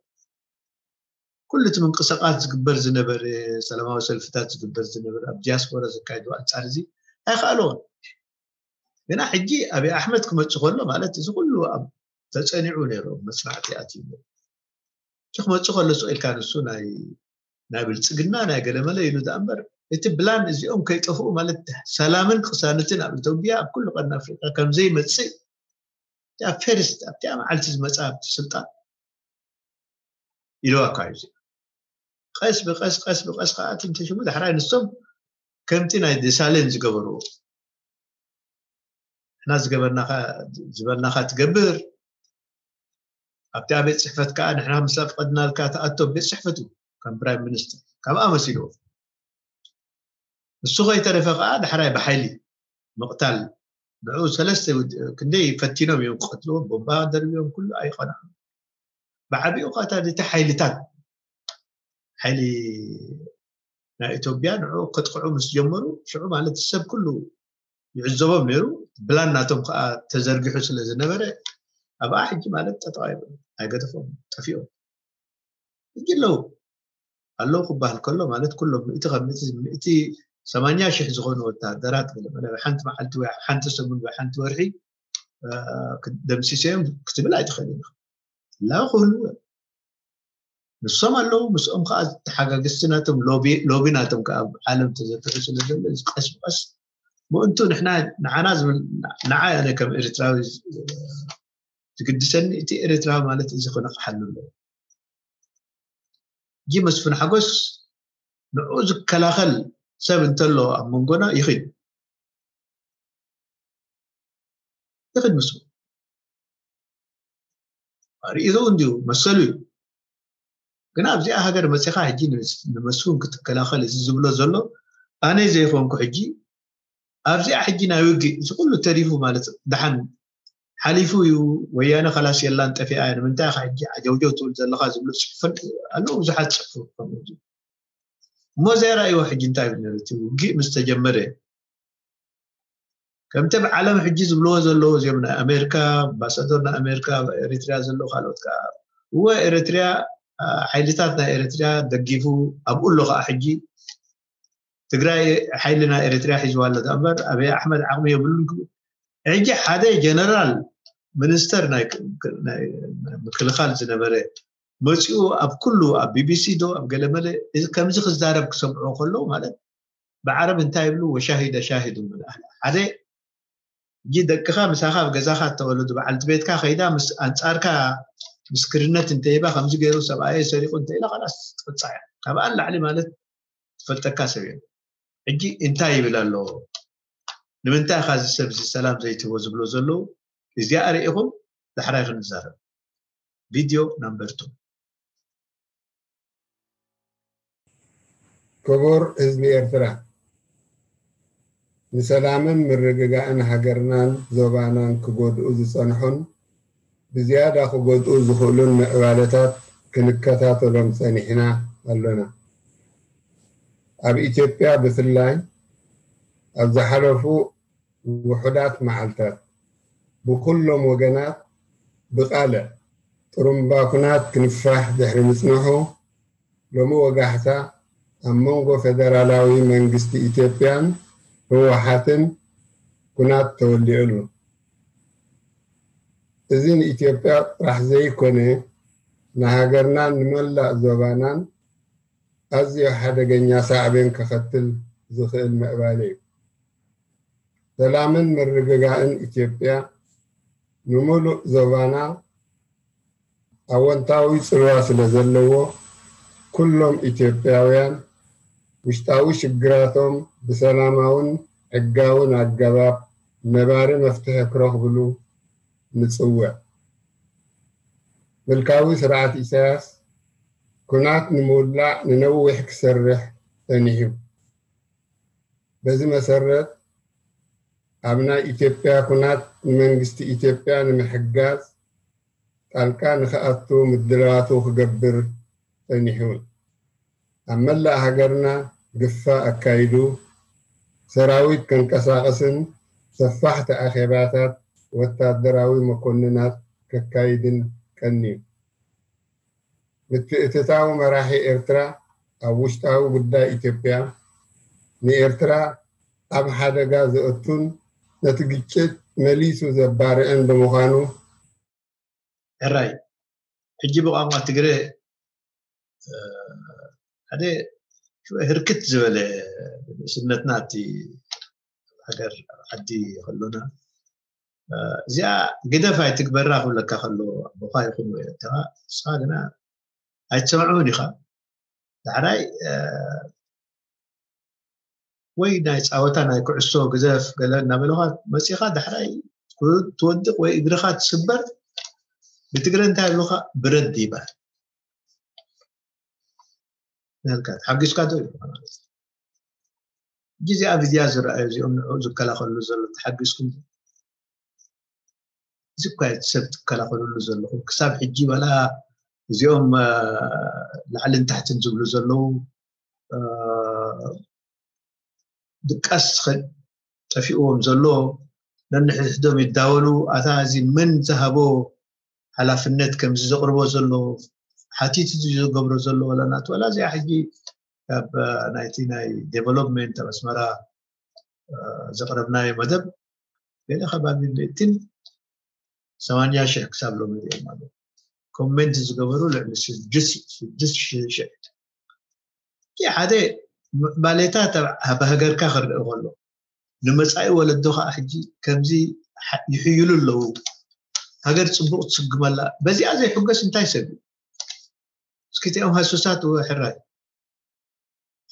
ኩሉ እቲ ምንቅስቃስ ዝግበር ዝነበረ ሰላማዊ ሰልፍታት ዝግበር ዝነበረ ኣብ ዲያስፖራ ዘካየዱ ኣንፃር እዚ ኣይከኣልዎን ግና ሕጂ ኣብይ ኣሕመድ ክመፅእ ከሎ ማለት እዚ ኩሉ ኣብ ተፀኒዑ ነይሩ መፅናዕቲ ኣትዩ እቲ ክመፅእ ከሎ ስቕ ኢልካ ንሱ ናይ ናይ ብልፅግና ናይ ገለመለ ኢሉ ዳኣ እምበር እቲ ብላን እዚኦም ከይጠፍኡ ማለት ሰላምን ቅሳነትን ኣብ ኢትዮጵያ ኣብ ኩሉ ቀርኒ ኣፍሪቃ ከምዘይመፅእ እቲኣ ፈርስት ኣብቲኣ መዓልቲ ዝመፃ ኣብቲ ስልጣን ኢልዋ እኳ እዩ ቀስ ብቀስ ቀስ ብቀስ ከዓ እቲ እንተሽሙ ዳሕራይ ንሶም ከምቲ ናይ ደሳሌን ዝገበርዎ ንሕና ዝገበርናኻ ዝበልናኻ ትገብር ኣብቲ ቤት ፅሕፈት ከዓ ንሕና ምስ ኣፍቀድናልካ ትኣቶ ቤት ፅሕፈቱ ከም ፕራይም ሚኒስትር ከምኣ መሲልዎ ንሱ ከይተረፈ ከዓ ዳሕራይ ብሓይሊ ምቕታል ንዑ ሰለስተ ክንደይ ፈቲኖም እዮም ክቐትልዎም ቦምባ ደርብዮም ኩሉ ኣይቐንዖም ብዓቢኡ ከዓ እቲ ሓይልታት ሓይሊ ናይ ኢትዮጵያ ንዑ ከጥቅዑ ምስ ጀመሩ ሽዑ ማለት ሰብ ኩሉ ይዕዘቦም ነይሩ ብላን ናቶም ከዓ ተዘርጊሑ ስለ ዝነበረ ኣብኣ ሕጂ ማለት ጠጠው ኣይበሉ ኣይገደፎም ጠፊኦም ሕጂ ኣለዉ ኣለዉ ክበሃል ከሎ ማለት ኩሎም ምእቲ ካብ ምእቲ ምእቲ ሰማንያ ሽሕ ዝኾኑ ወታደራት ገለ መለ ሓንቲ መዓልቲ ወይ ሓንቲ ሰሙን ወይ ሓንቲ ወርሒ ደምሲሰዮም ክትብል ኣይትኽእልን ኢኻ ላው ክህልዉ እዮም ንሶም ኣለዉ ምስኦም ከዓ ተሓጋግዝቲ ናቶም ሎቢ ናቶም ከዓ ኣብ ዓለም ተዘርግሑ ስለ ዘሎ እዚ ቀስ ብቀስ ምእንቱ ንሕና ንዓና ዝብል ንዓ ያለ ከም ኤርትራዊ ዝግድሰኒ እቲ ኤርትራዊ ማለት እዚ ክነቕሓሉ ኣለዎ ጂ መስፍን ሓጎስ ንዕኡ ዝከላኸል ሰብ እንተሎ ኣብ መንጎና ይኽድ ይኽድ ምስ ርእይቶ እንዲሁ መሰሉ እዩ ግን ኣብዚኣ ሃገር መፂኻ ሕጂ ንመስፍን ክትከላኸል እዚ ዝብሎ ዘሎ ኣነ ዘይኮንኩ ሕጂ ኣብዚኣ ሕጂ ናይ ውግእ እዚ ኩሉ ተሪፉ ማለት ደሓን ሓሊፉ እዩ። ወያነ ከላስ የላን ጠፊኣ እያ ንምንታይ ኢኻ ሕጂ ዓጀውጀው ትብል ዘለኻ ዝብሉ ፅሑፈን ኣለዉ ብዙሓት ፅሑፉ። እሞ ዘየራእይዎ ሕጂ እንታይ ይብል ነሩ እቲ ውግእ ምስ ተጀመረ ከምቲ ኣብ ዓለም ሕጂ ዝብልዎ ዘለዉ እዚኦም ናይ ኣሜሪካ ኣምባሳደር ናይ ኣሜሪካ ኣብ ኤሪትሪያ ዘለዉ ካልኦት ከዓ እወ ኤሪትሪያ ሓይልታት ናይ ኤሪትሪያ ደጊፉ ኣብኡ ኣሎ ከዓ ሕጂ ትግራይ ሓይሊ ናይ ኤሪትሪያ ሒዝዋ ኣሎ እምበር ኣብይ ኣሕመድ ዓቕሚ የብሉን ክብል ሕጂ ሓደ ጀነራል ሚኒስተር ናይ ምክልኻል ዝነበረ መፂኡ ኣብ ኩሉ ኣብ ቢቢሲ ዶ ኣብ ገለመለ ከምዚ ክዛረብ ክሰምዑ ከለዉ ማለት ብዓረብ እንታይ ይብሉ ወሻሂደ ሻሂዱ ሓደ እጂ ደቅኻ ምሳኻ ኣብ ገዛኻ እተወለዱ በዓልቲ ቤትካ ከይዳ ምስ ኣንጻርካ ምስክርነት እንተይባ ከምዚ ገይሩ ሰብኣየ ሰሪቑ እንተኢላ ካላስ ትቅጻዕ እያ ካብኣ ንላዕሊ ማለት ትፈልጠካ ሰብ እዮም ሕጂ እንታይ ይብል ኣሎ ንምንታይ ኢኻ እዚ ሰብ እዚ ሰላም ዘይትህቦ ዝብሎ ዘለዉ እዚኣ ርኢኹም ዳሕራይ ክንዛረብ ቪድዮ ናምበር ቱ ክቡር ህዝቢ ኤርትራ ንሰላምን ምርግጋእን ሃገርናን ዞባናን ክጎድኡ ዝጸንሑን ብዝያዳ ክጎድኡ ዝኽእሉን ምዕባለታት ክንከታተሎም ጸኒሕና ኣሎና። ኣብ ኢትዮጵያ ብፍላይ ኣብ ዝሓለፉ ውሑዳት መዓልታት ብኹሎም ወገናት ብቓለ ጥሩምባ ኩናት ክንፋሕ ድሕሪ ምጽንሑ ሎሚ ወጋሕታ ኣብ መንጎ ፌደራላዊ መንግስቲ ኢትዮጵያን ህወሓትን ኩናት ተወሊዑ ኣሎ። እዚ ንኢትዮጵያ ጥራሕ ዘይኮነ ንሃገርናን ንመላእ ዞባናን ኣዝዩ ሓደገኛ ሳዕቤን ከኸትል ዝኽእል ምዕባለ እዩ። ሰላምን ምርግጋእን ኢትዮጵያ ንምሉእ ዞባና ኣወንታዊ ፅልዋ ስለ ዘለዎ ኩሎም ኢትዮጵያውያን ውሽጣዊ ሽግራቶም ብሰላማውን ሕጋውን ኣገባብ ነባሪ መፍትሒ ክረኽብሉ ንፅውዕ። ምልካዊ ስርዓት ኢሳያስ ኩናት ንምውላዕ ንነዊሕ ክሰርሕ ጸኒሑ። በዚ መሰረት ኣብ ናይ ኢትዮጵያ ኩናት ንመንግስቲ ኢትዮጵያ ንምሕጋዝ ጣልቃ ንክኣቱ ምድላዋቱ ክገብር ጸኒሑ። ኣብ መላእ ሃገርና ግፋ ኣካይዱ ሰራዊት ከንቀሳቕስን ሰፋሕቲ ኣኼባታት ወታደራዊ መኮንናት ከካይድን ቀንዩ። ምትእትታው መራሒ ኤርትራ ኣብ ውሽጣዊ ጉዳይ ኢትዮጵያ ንኤርትራ ኣብ ሓደጋ ዘእቱን ነቲ ግጭት መሊሱ ዘባርዕን ብምዃኑ ሕራይ ሕጂ ብቋንቋ ትግረ ሓደ ህርክት ዝበለ ንእስነትና እቲ ሃገር ዓዲ ከሎና እዚኣ ግደፍ ኣይትግበራ ክብለካ ከሎ ኣቦኻ ይኹን ወይ ኣተኻ ንስኻ ግና ኣይትሰምዑን ኢኻ ዳሕራይ ወይ ናይ ፃወታ ናይ ኩዕሶ ግዘፍ ገለ እናበለኻ መፂኻ ዳሕራይ ትወድቕ ወይ እግርኻ ትስበር ብትግረ እንታይ ብሉኻ ብረድ ይበሃል ናልካ ተሓጊዝካ ዶ ይብሉኻ ማለት ግዜ ኣብ እዚኣ ዝረኣዩ እዚኦም ንዕኡ ዝከላኸሉ ዘሎ ተሓጊዝኩም እዚ እኳ ሰብ ትከላኸልሉ ዘለኹም ክሳብ ሕጂ ዋላ እዚኦም ላዕልን ታሕትን ዝብሉ ዘለዉ ድቃስ ጠፊእዎም ዘሎ ነንሕድሕዶም ይዳወሉ ኣታ እዚ መን ዝሃቦ ሓላፍነት ከምዚ ዘቕርቦ ዘሎ ሓቲት ዝገብሮ ዘሎ ወላ ናት ወላ እዚኣ ሕጂ ካብ ናይቲ ናይ ዴቨሎፕመንት ኣብ ኣስመራ ዘቕረብናዮ መደብ ገለ ከባቢ ሚእትን ሰማንያ ሽሕ ክሳብ ሎሚ ሪኦም ኣለዉ ኮሜንት ዝገበሩ ልዕሊ ስድስት ሽሕ ሓደ ምዕባሌታት ኣብ ሃገርካ ክርእ ከሎ ንመፃኢ ወለዶ ከዓ ሕጂ ከምዚ ይሕይሉ ኣለዉ ሃገር ፅቡቅ ትስግመላ በዚኣ ዘይሕገስ እንታይ ሰብ እዩ እስኪ እቲኦም ሃሱሳት ሕራይ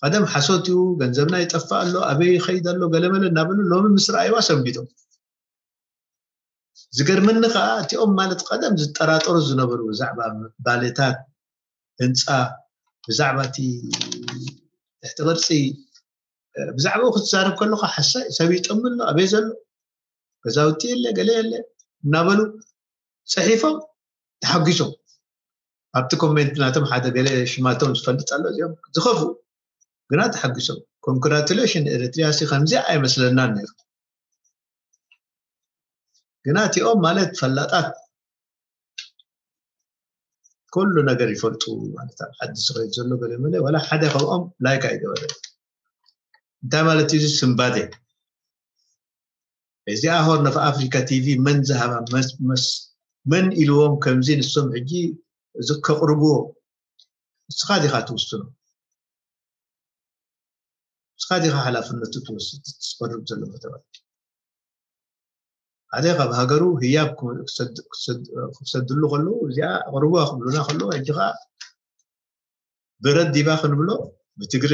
ቀደም ሓሶት እዩ ገንዘብና ይጠፍእ ኣሎ ኣበይ ይኸይድ ኣሎ ገለመለ እናበሉ ሎሚ ምስ ረኣይዋ ሰንቢዶም ዝገርመኒ ከዓ እቲኦም ማለት ቀደም ዝጠራጠሩ ዝነበሩ ብዛዕባ ባሌታት ህንፃ፣ ብዛዕባ እቲ ትሕቲ ቅርፂ፣ ብዛዕባኡ ክትዛረብ ከለካ ሓሳይ ሰብ ይጠም ኣሎ፣ ኣበይ ዘሎ፣ ገዛውቲ የለ፣ ገለ የለ እናበሉ ፅሒፎም ተሓጒሶም። ኣብቲ ኮሜንት ናቶም ሓደ ገለ ሽማቶም ዝፈልጥ ኣሎ፣ እዚኦም ዝኸፉ ግና ተሓጒሶም። ኮንግራቱሌሽን፣ ኤሪትሪያ ሲ ከምዚ ኣይመስለናን ነይሩ። ግና እቲኦም ማለት ፈላጣት፣ ኩሉ ነገር ይፈልጡ ማለት ኣብ ዓዲ ዝኸይድ ዘሎ ገለ መለ፣ ዋላ ሓደ ካብኦም ላይክ ኣይገበረ። እንታይ ማለት እዩ እዚ ስምባዴ? እዚኣ ሆርን ኦፍ ኣፍሪካ ቲቪ መን ዝሃባ መስ መስ መን ኢልዎም ከምዚ ንሶም ሕጂ እዚ ከቕርብዎ? ንስኻ ዲኻ ትውስኖ? ንስኻ ዲኻ ሓላፍነቱ ትወስድ? ትስፈርም ዘሎ መተባት ሓደ ካብ ሃገሩ ህያብ ክሰድሉ ከለዉ እዚኣ ኣቕርብዋ ክብሉና ከለዉ ሕጂ ከዓ ብረት ዲባ ክንብሎ ብትግረ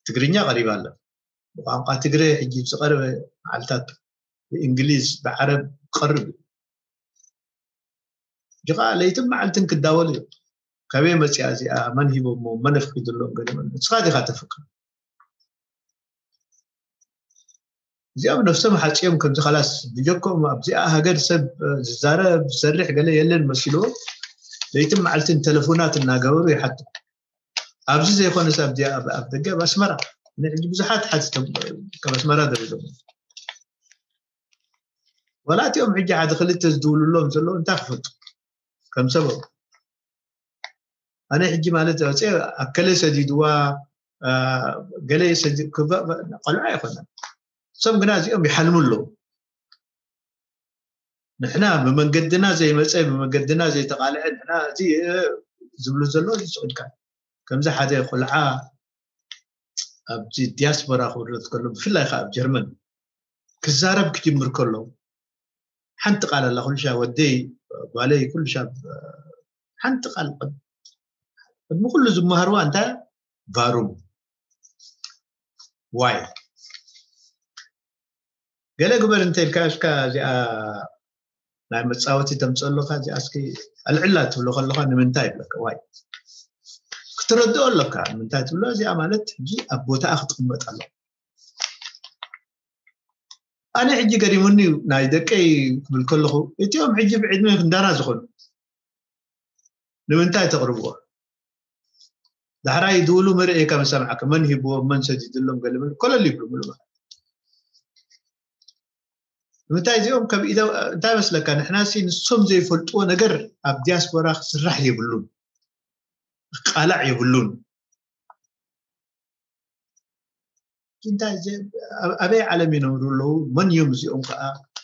ትግርኛ ቀሪባ ኣላ። ብቋንቋ ትግረ ሕጂ ዝቐረበ መዓልታት ብእንግሊዝ ብዓረብ ክቐርብ እዩ። ሕጂ ከዓ ለይትን መዓልትን ክዳወል እዩ። ከበይ መፅያ እዚኣ፣ መን ሂቦሞ፣ መን ኣፍቂድሎም፣ ገለ መን ንስኻ ዲኻ ተፍቅድ? እዚኦም ነፍሶም ሓፂኦም ከምዚ ካላስ ብጀኮም ኣብዚኣ ሃገር ሰብ ዝዛረብ ዝሰርሕ ገለ የለን መሲልዎ ለይትን መዓልትን ተለፎናት እናገበሩ ይሓቱ። ኣብዚ ዘይኮነስ ኣብዚኣ ኣብ ደገ ኣብ ኣስመራ ንሕጂ ብዙሓት ሓቲቶም ካብ ኣስመራ ደሪዶም ወላ እቲኦም ሕጂ ሓደ ክልተ ዝድውልሎም ዘለዉ እንታይ ክፈልጡ ከም ሰበብ ኣነ ሕጂ ማለት ወፀ ኣከለ ሰዲድዋ ገለ ቆልዓ ኣይኮነን። እሶም ግና እዚኦም ይሓልሙ ኣለዉ። ንሕና ብመንገድና ዘይመፀ ብመንገድና ዘይተቃልዐ ንሕና እዚ ዝብሉ ዘለዉ ዝስዕድካ ከምዚ ሓደ ቆልዓ ኣብዚ ዲያስፖራ ክብረት ከሎ ብፍላይ ከዓ ኣብ ጀርመን ክዛረብ ክጅምር ከሎ ሓንቲ ቃል ኣላ ኩሉ ሻ ወደይ ጓለይ ኩሉ ሻ ሓንቲ ቃል ቅድሚ ኩሉ ዝመሃርዋ እንታይ ቫሩም ዋይ ገለ ግበር እንተ ኢልካ እስካ እዚኣ ናይ መፃወቲ ተምፀለካ እዚኣ እስኪ ኣልዕላ ትብሎ ከለካ ንምንታይ ይብለካ ዋይ ክትረድኦ ኣለካ ንምንታይ ትብሎ እዚኣ ማለት ሕጂ ኣብ ቦታኣ ክትቅመጥ ኣለካ ኣነ ሕጂ ገሪሙኒ እዩ ናይ ደቀይ ክብል ከለኹ እቲኦም ሕጂ ብዕድመ ክንዳና ዝኾኑ ንምንታይ ተቕርብዎ ዳሕራይ ድውሉ መርእየካ መሰማዕካ መን ሂብዎም መን ሰዲድሎም ገለመል ኮለል ይብሉ ምሉ ማለት ንምንታይ እዚኦም ከም ኢደ እንታይ መስለካ ንሕና ሲ ንሶም ዘይፈልጥዎ ነገር ኣብ ዲያስፖራ ክስራሕ የብሉን ክቃላዕ የብሉን እንታይ ኣበይ ዓለም ይነብሩ ኣለዉ መን እዮም እዚኦም ከዓ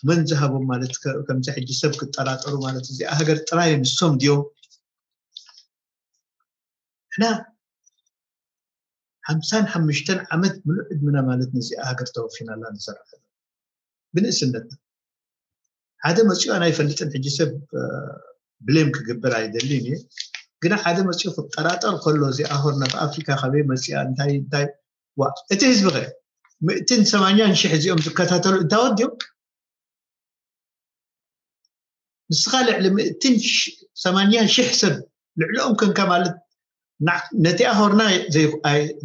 መን ዝሃቦም ማለት ከምዚ ሕጂ ሰብ ክጠራጠሩ ማለት እዚኣ ሃገር ጥራይ ንሶም ድዮም ሕና ሓምሳን ሓሙሽተን ዓመት ምሉእ ዕድምና ማለት ነዚኣ ሃገር ተወፊናላ ንሰርሕ ብንእስነትና ሓደ መፂኡ ኣነ ኣይፈልጥን ሕጂ ሰብ ብሌም ክግበር ኣይደልን እየ ግና ሓደ መፂኡ ክጠራጠር ከሎ እዚኣ ሆርን ኦፍ ኣፍሪካ ካበይ መፂኣ እንታይ እንታይ ዋ እቲ ህዝቢ ከ ምእትን ሰማንያን ሽሕ እዚኦም ዝከታተሉ እንታይ ወዲኦም ንስኻ ልዕሊ ምእትን ሰማንያን ሽሕ ሰብ ልዕሊኦም ከንካ ማለት ነቲኣ ሆርና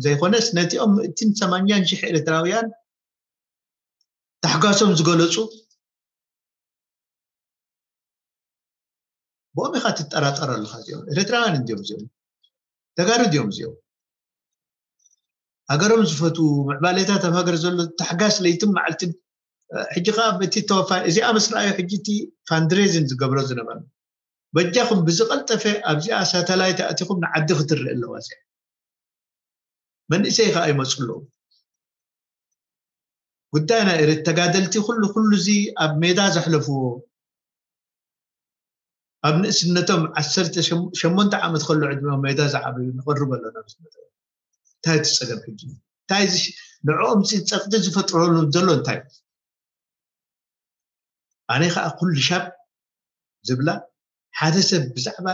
ዘይኮነስ ነቲኦም ምእትን ሰማንያን ሽሕ ኤርትራውያን ታሕጓሶም ዝገለፁ ብኦም ኢኻ ትጠራጠር ኣለኻ እዚኦም ኤርትራውያን እንዲዮም እዚኦም ተጋሩ ድዮም እዚኦም ሃገሮም ዝፈትዉ ምዕባሌታት ኣብ ሃገር ዘሎ ታሕጋስ ለይትን መዓልትን ሕጂ ከዓ በቲ ተወፋ እዚኣ ምስ ረኣዩ ሕጂ እቲ ፋንድሬዝን ዝገብሮ ዝነበረ በጃኹም ብዝቐልጠፈ ኣብዚኣ ሳተላይት ኣእቲኹም ንዓዲ ክትርኢ ኣለዋ እዚኣ መንእሰይ ከዓ ይመፁ ኣለዉ ጉዳይ ናይ ኤርት ተጋደልቲ ኩሉ ኩሉ እዚ ኣብ ሜዳ ዘሕለፍዎ ኣብ ንእስነቶም ዓሰርተ ሸሞንተ ዓመት ከሎ ዕድመ ሜዳ ዝዓበዩ ንቐርብ ኣለና ምስ መጠ እንታይ እቲ ፀገም ሕጂ እንታይ ንዕኦም ፂ ፀቕጢ ዝፈጥረሉ ዘሎ እንታይ ኣነ ከዓ ኩሉ ሻብ ዝብላ ሓደ ሰብ ብዛዕባ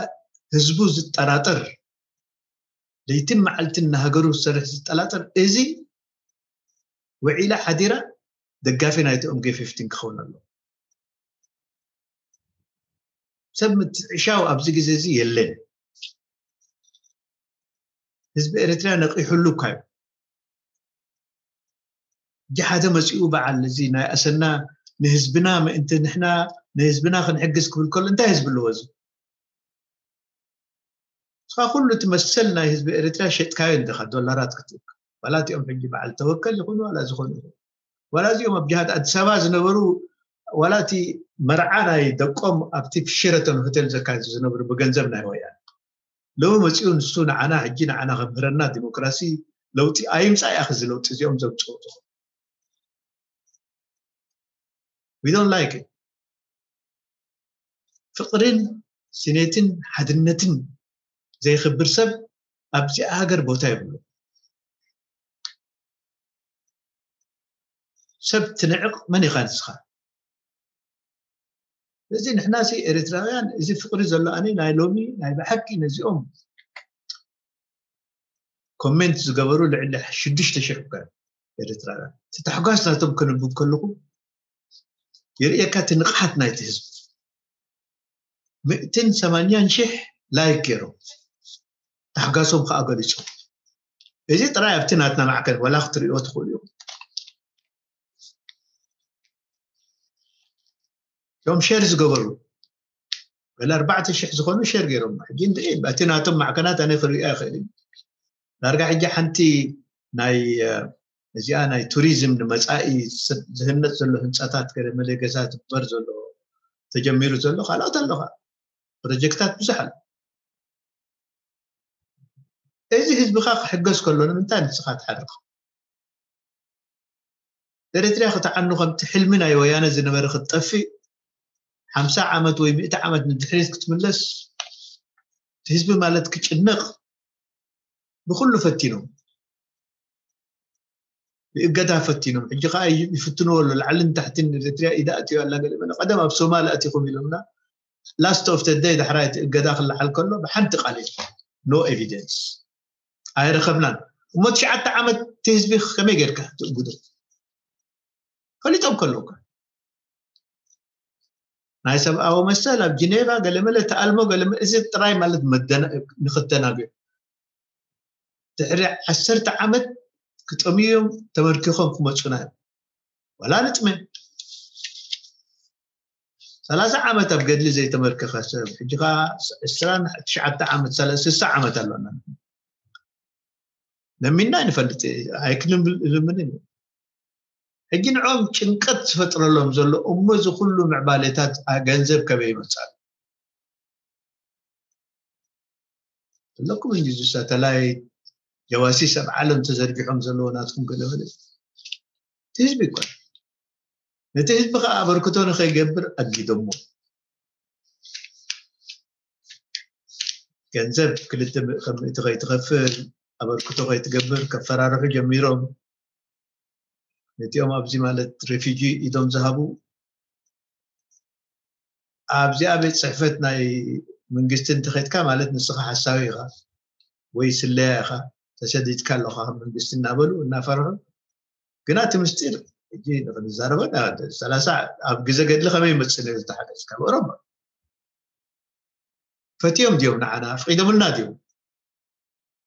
ህዝቡ ዝጠራጠር ለይትን መዓልትን ንሃገሩ ዝሰርሕ ዝጠላጠር እዚ ውዒላ ሓዲራ ደጋፊ ናይቲ ኦምጌ ፊፍቲን ክኸውን ኣሎ ሰብ ምትዕሻው ኣብዚ ግዜ እዚ የለን ህዝቢ ኤርትራ ነቒሑሉ እኳ እዩ። ሕጂ ሓደ መፂኡ በዓል እዚ ናይ ኣሰና ንህዝብና ምእንቲ ንሕና ንህዝብና ክንሕግዝ ክብል ከሎ እንታይ ህዝቢ ኣለዎ እዚ? እስኻ ኩሉ እቲ መሰል ናይ ህዝቢ ኤርትራ ሸጥካዮ እንዲኻ ዶላራት ክትእክ። ዋላ እቲኦም ሕጂ በዓል ተወከል ይኹኑ ዋላ ዝኾኑ ይኹኑ። ዋላ እዚኦም ኣብ ጅሃድ ኣዲስ ኣበባ ዝነበሩ ዋላ እቲ መርዓ ናይ ደቆም ኣብቲ ሸረተን ሆቴል ዘካይዱ ዝነበሩ ብገንዘብ ናይ ወያነ። ሎሚ መፂኡ ንሱ ንዓና ሕጂ ንዓና ከምህረና ዲሞክራሲ ለውጢ ኣይምፃእ ያኽ እዚ ለውጢ እዚኦም ዘምፅኡ ዝኾኑ። We don't like it። ፍቕርን ስኔትን ሓድነትን ዘይኽብር ሰብ ኣብዚኣ ሃገር ቦታ የብሉ። ሰብ ትንዕቕ መን ኢኻ ንስኻ? ስለዚ ንሕና ሲ ኤርትራውያን እዚ ፍቕሪ ዘሎ ኣነ ናይ ሎሚ ናይ ብሓቂ ነዚኦም ኮሜንት ዝገበሩ ልዕሊ ሽዱሽተ ሽሕ እኳ ኤርትራውያን እቲ ታሕጓስ ናቶም ከንብብ ከለኹ የርእየካ እቲ ንቕሓት ናይቲ ህዝቢ። ምእትን ሰማንያን ሽሕ ላይክ ገይሮም ታሕጋሶም ከዓ ገሊፆም። እዚ ጥራይ ኣብቲ ናትና ማዕከን ዋላ ክትሪኦ ትኽእሉ እዮም። እዞም ሸር ዝገበሩ ገለ ኣርባዕተ ሽሕ ዝኾኑ ሸር ገይሮም ሕጂ እንድዒ በቲ ናቶም ማዕከናት ኣነ ክሪኦ ኣይኽእል እዩ። ዳርጋ ሕጂ ሓንቲ ናይ እዚኣ ናይ ቱሪዝም ንመፃኢ ዝህነፅ ዘሎ ህንፃታት ገለ መለ ገዛ ዝግበር ዘሎ ተጀሚሩ ዘሎ ካልኦት ኣለኻ ፕሮጀክታት ብዙሕ ኣሎ። እዚ ህዝብኻ ክሕገዝ ከሎ ንምንታይ ንስኻ ትሓርቕ? ኤርትርያ ክትዓኑ ከምቲ ሕልሚ ናይ ወያነ ዝነበረ ክትጠፍእ ሓምሳ ዓመት ወይ ሚእቲ ዓመት ንድሕሪት ክትምለስ እቲ ህዝቢ ማለት ክጭነቕ ብኩሉ ፈቲኖም ብእገዳ ፈቲኖም ሕጂ ከዓ ይፍትንዎ ኣሎ ላዕልን ታሕትን ኤርትርያ ኢዳ ኣትዮ ኣላ ገለ መለ ቀደም ኣብ ሶማል ኣቲኹም ኢሎምና last of the day ዳሕራይ እቲ እገዳ ክለዓል ከሎ ብሓንቲ ቃል no evidence ኣይረኸብናን እሞ ትሽዓተ ዓመት እቲ ህዝቢ ከመይ ጌርካ ትእግዶ ፈሊጦም ከለውካ ናይ ሰብኣዊ መሰል ኣብ ጅኔቫ ገለመለ ተኣልሞ ገለመለ እዚ ጥራይ ማለት ንክተናገ ድሕሪ ዓሰርተ ዓመት ክጠምዮም ተመርኪኾም ክመፁና እዮም ዋላ ንጥመ ሰላሳ ዓመት ኣብ ገድሊ ዘይተመርከኸ ሰብ ሕጂ ከዓ ዕስራን ትሽዓተ ዓመት ስሳ ዓመት ኣሎና ለሚና ንፈልጥ ኣይክልምንን ሕጂ ንዖም ጭንቀት ዝፈጥረሎም ዘሎ እሞ እዚ ኩሉ ምዕባሌታት ገንዘብ ከበይ ይመፃሉ ኣለኩም እንጂ እዚ ሳተላይት ጀዋሲስ ኣብ ዓለም ተዘርጊሖም ዘለዎ ናትኩም ገለመለ ህዝቢ ይኮን ነቲ ህዝቢ ከዓ ኣበርክቶ ንከይገብር ኣጊዶሞ ገንዘብ ክልተ ከም እቲ ከይትኸፍል ኣበርክቶ ከይትገብር ከፈራርሑ ጀሚሮም ነቲኦም ኣብዚ ማለት ሬፊጂ ኢዶም ዝሃቡ ኣብዚኣ ቤት ፅሕፈት ናይ መንግስቲ እንተኸድካ ማለት ንስኻ ሓሳዊ ኢኻ ወይ ስለያ ኢኻ ተሰዲድካ ኣለኻ መንግስቲ እናበሉ እናፈርሑ ግና እቲ ምስጢር ሕጂ ንክንዛረበ ሰላሳ ኣብ ግዜ ገድሊ ከመይ ይመፅእ ነሩ ዝተሓገዝካ ብኦሮሞ ፈትዮም ድዮም ንዓና ኣፍቂዶምልና ድዮም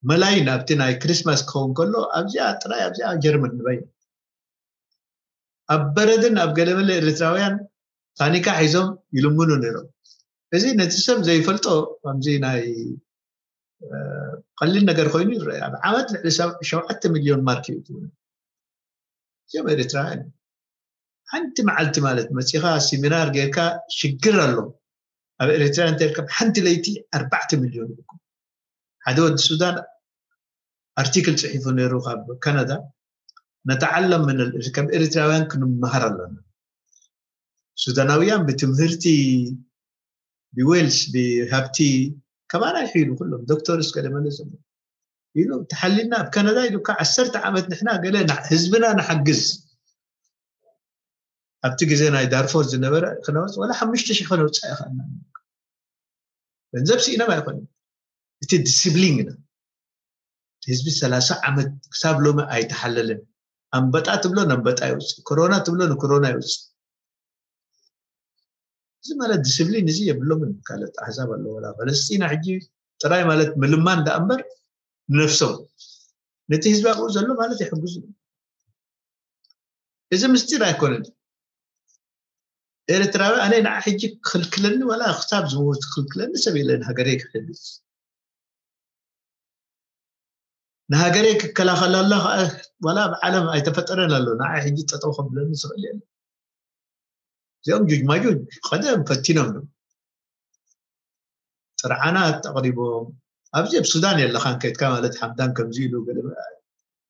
መላይ ናብቲ ናይ ክሪስማስ ክኸውን ከሎ ኣብዚኣ ጥራይ ኣብዚኣ ጀርመን ንበይ ኣብ በረድን ኣብ ገለመለ ኤርትራውያን ታኒካ ሒዞም ይልምኑ ነይሮም እዚ ነቲ ሰብ ዘይፈልጦ ከምዚ ናይ ቀሊል ነገር ኮይኑ ይረአ ኣብ ዓመት ልዕሊ ሸውዓተ ሚልዮን ማርክ እዩ እዚኦም ኤርትራውያን ሓንቲ መዓልቲ ማለት መፂኻ ሲሚናር ጌርካ ሽግር ኣሎ ኣብ ኤርትራ እንተርከብ ሓንቲ ለይቲ ኣርባዕተ ሚልዮን ይልኩም ሓደ ወዲ ሱዳን ኣርቲክል ፅሒፉ ነይሩ ካብ ካናዳ ነተዓለም ምን ከም ኤርትራውያን ክንመሃር ኣለና ሱዳናውያን ብትምህርቲ ብዌልስ ብሃብቲ ከማና ይሕይሉ ኩሎም ዶክተርስ ገለመለ ዘሎ ኢሉ ተሓሊልና ኣብ ካናዳ ኢሉ ካ ዓሰርተ ዓመት ንሕና ገለ ህዝብና ንሓግዝ ኣብቲ ግዜ ናይ ዳርፎር ዝነበረ ክነወፅ ወላ ሓሙሽተ ሽሕ ከነውፅእ ይኽእልና ገንዘብ ስኢኖም ኣይኮነ እቲ ዲስፕሊን ኢና ህዝቢ ሰላሳ ዓመት ክሳብ ሎሚ ኣይተሓለልን ኣንበጣ ትብሎ ኣንበጣ ይውፅእ ኮሮና ትብሎ ንኮሮና ይውፅእ እዚ ማለት ዲስፕሊን እዚ የብሎምን ካልኦት ኣሕዛብ ኣለዎ ፈለስጢና ሕጂ ጥራይ ማለት ምልማን ዳኣ እምበር ንነፍሶም፣ ነቲ ህዝቢ ኣብኡ ዘሎ ማለት ይሕግዙ። እዚ ምስጢር ኣይኮነን። ኤርትራዊ ኣነ ንዓ ሕጂ ክኽልክለኒ፣ ዋላ ክሳብ ዝሞት ክኽልክለኒ ሰብ የለን። ሃገረይ ክሕግዝ፣ ንሃገረይ ክከላኸለላ ከዓ ዋላ ኣብ ዓለም ኣይተፈጠረን ኣሎ። ንዓ ሕጂ ጠጠው ከብለኒ ዝኽእል የለን። እዚኦም ጁጅ ማጁጅ ቀደም ፈቲኖም እዮም። ጥርዓናት ኣቕሪቦም፣ ኣብዚ ኣብ ሱዳን የለኻን ከይድካ ማለት ሓምዳን ከምዚ ኢሉ ገለ፣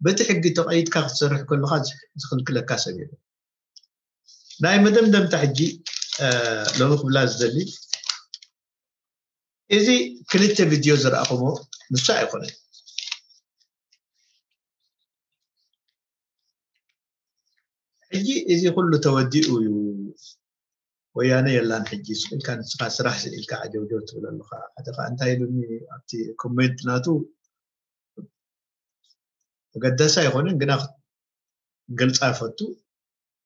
በቲ ሕጊ ተቐይድካ ክትሰርሕ ከለኻ ዝኽልክለካ ሰብ የለን። ናይ መደምደምታ ሕጂ ሎሚ ክብላ ዝደሊ፣ እዚ ክልተ ቪድዮ ዝረኣኹሞ ንሱ ኣይኮነን። ሕጂ እዚ ኩሉ ተወዲኡ እዩ። ወያነ የላን ሕጂ፣ ስቕ ኢልካ ንስኻ ስራሕ ስኢልካ ዓጀውጀው ትብል ኣለኻ። ሓደ ኸዓ እንታይ ኢሉኒ ኣብቲ ኮሜንት ናቱ፣ ኣገዳሲ ኣይኮነን ግና ገልጻ ፈቱ።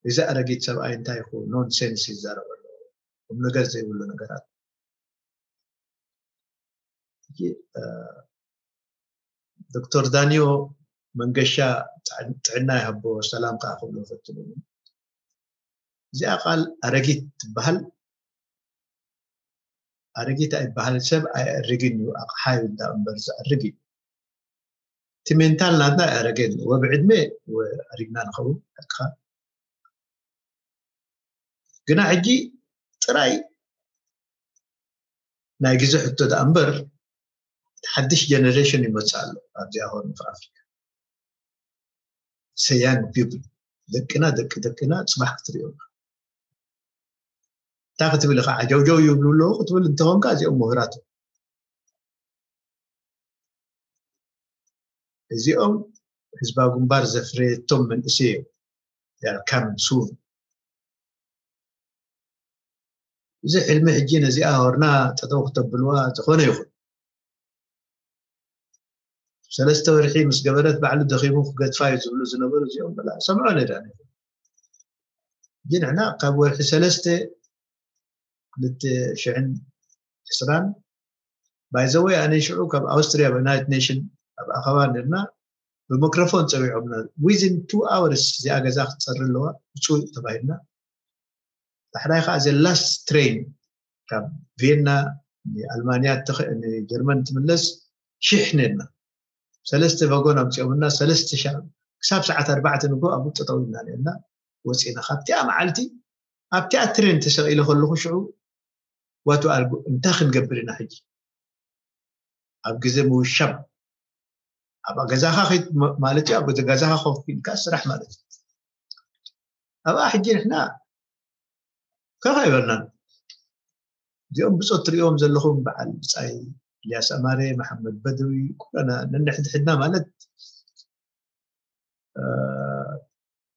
እዚ ኣረጊት ሰብኣይ እንታይ ይኹ ኖንሴንስ ይዛረብ ኣሎ፣ ቁም ነገር ዘይብሉ ነገራት። ሕጂ ዶክተር ዳንዮ መንገሻ ጥዕና ይሃቦ፣ ሰላም ከዓ ክብሎ ፈትኑ። እዚኣ ቃል ኣረጊት ትበሃል። ኣረጊት ኣይበሃል፣ ሰብ ኣየእርግን እዩ፣ ኣቕሓ እዩ እንዳ እምበር ዘእርግ እዩ። እቲ ሜንታል ናትና ኣረገን ወብዕድመ ኣሪግና ንኸውን። ኣካ ግና ሕጂ ጥራይ ናይ ግዜ ሕቶ ደኣ እምበር፣ ሓድሽ ጀነሬሽን ይመጽእ ኣሎ ኣብዚኣ ሆርን ኦፍ ኣፍሪካ። ሰያን ቢብል ደቅና፣ ደቂ ደቅና ጽባሕ ክትሪኦ። እንታይ ክትብል ኢኻ? ዓጀውጀው ይብሉ ኣለዉ ክትብል እንተኾንካ፣ እዚኦም ምሁራት እዮም። እዚኦም ህዝባዊ ግንባር ዘፍረየቶም መንእሰይ እዮም። They are coming soon። እዚ ሕልሚ ሕጂ ነዚኣ ሆርና ጠጠው ክተብልዋ ዝኾነ ይኹን ሰለስተ ወርሒ ምስ ገበረት ባዕሉ ደኺሙ ክገድፋ እዩ ዝብሉ ዝነበሩ እዚኦም በላ ሰምዖ ነዳ። ግን ንሕና ካብ ወርሒ ሰለስተ ክልተ ሽሕን ዕስራን ባይዘወይ ኣነ ሽዑ ካብ ኣውስትሪያ ብናይት ኔሽን ኣብ ኣኸባ ነርና ብማይክሮፎን ጸዊዖምና። ዊዝን ቱ ኣወርስ እዚኣ ገዛ ክትጸሪ ኣለዋ ብፁዕ ተባሂልና። ዳሕራይ ከዓ ዘ ላስት ትሬን ካብ ቬና ንኣልማንያ ንጀርመን ትምለስ ሽሕ ነርና። ሰለስተ ቫጎን ኣምፂኦምና ሰለስተ ሻዕ ክሳብ ሰዓት ኣርባዕተ ንጎ ኣብኡ ጠጠው ኢልና ነርና። ወፂና ካብቲኣ መዓልቲ ኣብቲኣ ትሬን ተሰቂለ ከለኹ ሽዑ ዋቱ ኣልጉ እንታይ ክንገብር ኢና ሕጂ ኣብ ግዜ ምውሻብ ኣብ ገዛኻ ማለት እዩ። ኣብ ገዛኻ ኮፍ ኢልካ ስራሕ ማለት እዩ። ኣብኣ ሕጂ ንሕና ከፍ ኣይበልናን። እዚኦም ብፆት ትሪእዎም ዘለኹም በዓል ብፃይ ኢልያስ ኣማረ፣ መሓመድ በድዊ ኩለና ነንሕድሕድና ማለት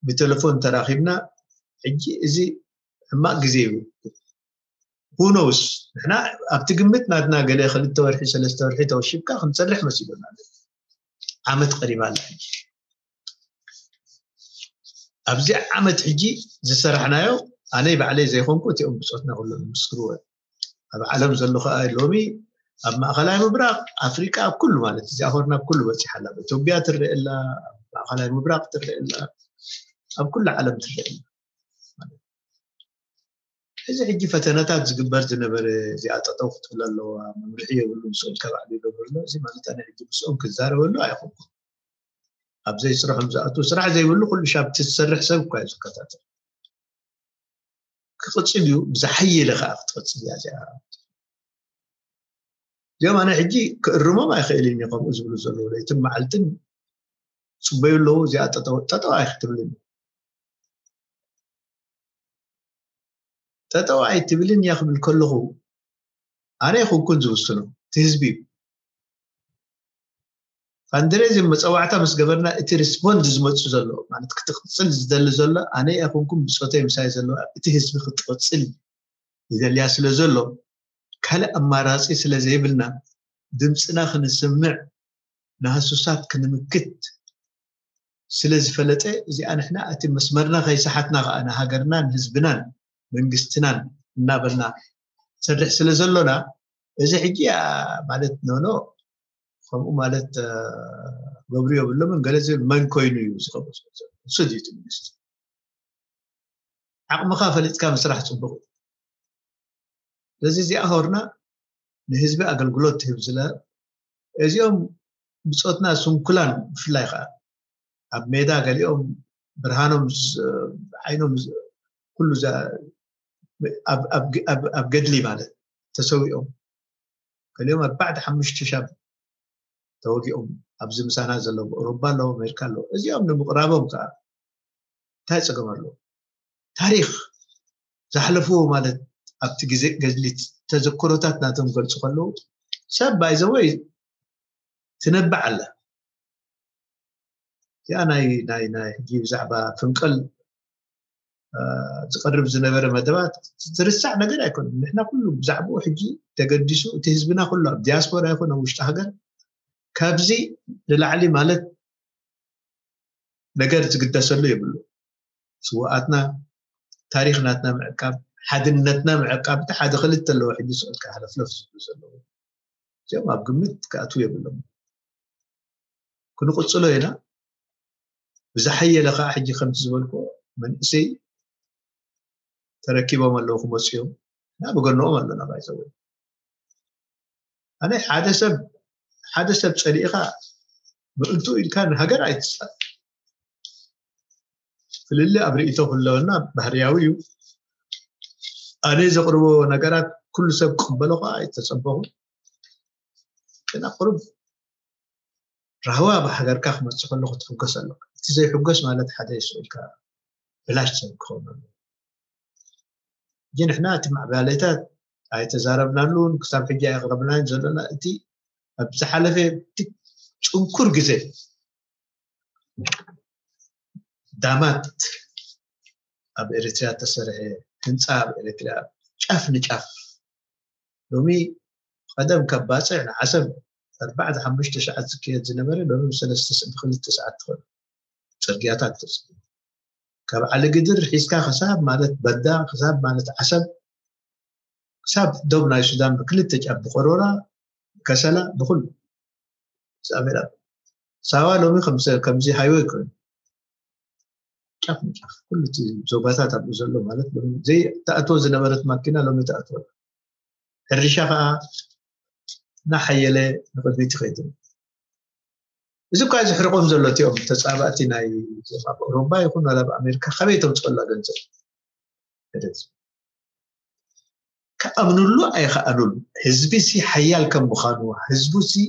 ብቴሌፎን ተራኺብና። ሕጂ እዚ ሕማቕ ግዜ እዩ። ሁኖውስ ንሕና ኣብቲ ግምት ናትና ገለ ክልተ ወርሒ ሰለስተ ወርሒ ተወሺብካ ክንሰርሕ መሲሉና ዓመት ቀሪባ ኣላ። ሕጂ ኣብዚ ዓመት ሕጂ ዝሰራሕናዮ ኣነይ ባዕለይ ዘይኮንኩ እቲኦም ብፆትና ኩሎም ምስክርዎ። ኣብ ዓለም ዘሎ ከዓ ሎሚ ኣብ ማእኸላይ ምብራቕ ኣፍሪቃ ኣብ ኩሉ ማለት እዚኣ ሆርና ኣብ ኩሉ በፂሓ ኣላ። ኣብ ኢትዮጵያ ትረአ ኣላ፣ ኣብ ማእኸላይ ምብራቕ ትረአ ኣላ፣ ኣብ ኩሉ ዓለም ትረአ ኣላ። እዚ ሕጂ ፈተነታት ዝግበር ዝነበረ እዚኣ ጠጠው ክትብል ኣለዋ፣ መምርሒ የብሉን፣ ስቕ ኢልካ ባዕሉ ይገብር ኣሎ። እዚ ማለት ኣነ ሕጂ ምስኦም ክዛረበሉ ኣይኮንኩን። ኣብ ዘይስርሖም ዝኣትዉ ስራሕ ዘይብሉ ኩሉ ሻብ እቲ ዝሰርሕ ሰብ እኳ እዩ ዝከታተል። ክቕፅል እዩ፣ ብዝሓየለ ከዓ ክትቕፅል እያ እዚኣ። እዚኦም ኣነ ሕጂ ክእርሞም ኣይኽእልን እየ ከምኡ ዝብሉ ዘለዉ ለይትን መዓልትን ፅበዩ ኣለዉ። እዚኣ ጠጠው ጠጠው ኣይክትብልን ጠጠው ኣይትብልን እያ ክብል ከለኹ ኣነ ይኹንኩን ዝውስኖ እቲ ህዝቢ እዩ። ፋንድሬዝን መፀዋዕታ ምስ ገበርና እቲ ሪስፖንድ ዝመፁ ዘሎ ማለት ክትቕፅል ዝደሊ ዘሎ ኣነ ይኹንኩም ብፆተይ ምሳይ ዘለዋ እቲ ህዝቢ ክትቕፅል ይደልያ ስለ ዘሎ ካልእ ኣማራፂ ስለ ዘይብልና ድምፅና ክንስምዕ ንሃሱሳት ክንምክት ስለ ዝፈለጠ እዚኣ ንሕና እቲ መስመርና ከይሰሓትና ከዓ ንሃገርናን ህዝብናን መንግስትናን እናበልና ሰርሕ ስለ ዘሎና እዚ ሕጂ ማለት ኖኖ ከምኡ ማለት ገብሩ የብሎምን ገለ ዝብል መን ኮይኑ እዩ ዝኸበሶ? እሱ ድዩ እቲ ሚኒስትር? ዓቕምኻ ፈሊጥካ ምስራሕ ፅቡቕ እዩ። ስለዚ እዚኣ ሆርና ንህዝቢ ኣገልግሎት ትህብ ዝለ እዚኦም ብፆትና ስንኩላን ብፍላይ ከዓ ኣብ ሜዳ ገሊኦም ብርሃኖም ዓይኖም ኩሉ ኣብ ገድሊ ማለት ተሰዊኦም ገሊኦም ኣርባዕተ ሓሙሽተ ሻብ ተወጊኦም ኣብዚ ምሳና ዘለዉ ኣውሮፓ ኣለዉ ኣሜሪካ ኣለዉ እዚኦም ንምቕራቦም ከዓ እንታይ ፀገም ኣለዎ? ታሪኽ ዝሓለፍዎ ማለት ኣብቲ ግዜ ገድሊ ተዘክሮታት ናቶም ገልፁ ከለዉ ሰብ ባይዘወይ ትነብዕ ኣላ። እዚኣ ናይ ናይ ናይ ሕጂ ብዛዕባ ፍንቀል ዝቀርብ ዝነበረ መደባት ዝርሳዕ ነገር ኣይኮነን። ንሕና ኩሉ ብዛዕባኡ ሕጂ ተገዲሱ እቲ ህዝብና ኩሉ ኣብ ዲያስፖራ ይኹን ኣብ ውሽጢ ሃገር ካብዚ ንላዕሊ ማለት ነገር ዝግደሰሉ የብሉ። ስውኣትና ታሪኽ ናትና ምዕቃብ ሓድነትና ምዕቃብ እቲ ሓደ ክልተ ኣለዎ ሕጂ ስዕልካ ሃለፍለፍ ዝብሉ ዘለዉ እዚኦም ኣብ ግምት ክኣትዉ የብሎም። ክንቕፅሎ ኢና። ብዝሓየለ ከዓ ሕጂ ከምቲ ዝበልኩ መንእሰይ ተረኪቦም ኣለዉ ክመፁ እዮም እና ብገንኦም ኣለና ባይዘወ ኣነ ሓደ ሰብ ሓደ ሰብ ፀሊእኻ ምእንቱ ኢልካ ንሃገር ኣይትፃእ ፍልሊ ኣብ ርእቶ ክለወና ባህርያዊ እዩ ኣነ ዘቕርቦ ነገራት ኩሉ ሰብ ክቅበሎ ከዓ ኣይተፀበኹ ግን ኣቅርብ ራህዋ ብሃገርካ ክመፅእ ከሎ ክትሕጎስ ኣለካ እቲ ዘይሕጎስ ማለት ሓደ ይስእልካ ብላሽ ሰብ ክኸውን ኣሎ ሕጂ ንሕና እቲ ማዕባለታት ኣይተዛረብናሉን ክሳብ ሕጂ ኣየቕረብናን ዘለና እቲ ኣብ ዝሓለፈ እቲ ፅንኩር ግዜ ዳማት ኣብ ኤርትራ ተሰርሐ ህንፃ ኣብ ኤርትራ ጫፍ ንጫፍ ሎሚ ቀደም ካብ ባፅዕ ንዓሰብ ኣርባዕተ ሓሙሽተ ሰዓት ዝካየድ ዝነበረ ሎሚ ብሰለስተ ብክልተ ሰዓት ትኸዱ ፅርግያታት ተፅርዩ ካብ ዓሊ ግድር ሒዝካ ክሳብ ማለት በዳ ክሳብ ማለት ዓሰብ ክሳብ ዶብ ናይ ሱዳን ብክልተ ጫፍ ብቆሮራ ከሰላ ብኩሉ ሳቤላ ሳዋ ሎሚ ከምዚ ሃይወይ ኮይኑ ጫፍ ንጫፍ ኩሉ እቲ ዞባታት ኣብኡ ዘሎ ማለት ዘይተኣትዎ ዝነበረት ማኪና ሎሚ ተኣትወ ሕርሻ ከዓ እናሓየለ ንቅድሚት ይኸይድ እዚ እኳ ዝሕርቆም ዘሎ እቲኦም ተፃባእቲ ናይ ኣብ ኣውሮፓ ይኹን ኣብ ኣሜሪካ ካበይ ተምፅኦላ ገንዘብ ክኣምኑሉ ኣይኸኣሉሉ ህዝቢ ሲ ሓያል ከም ምዃኑ ህዝቡ ሲ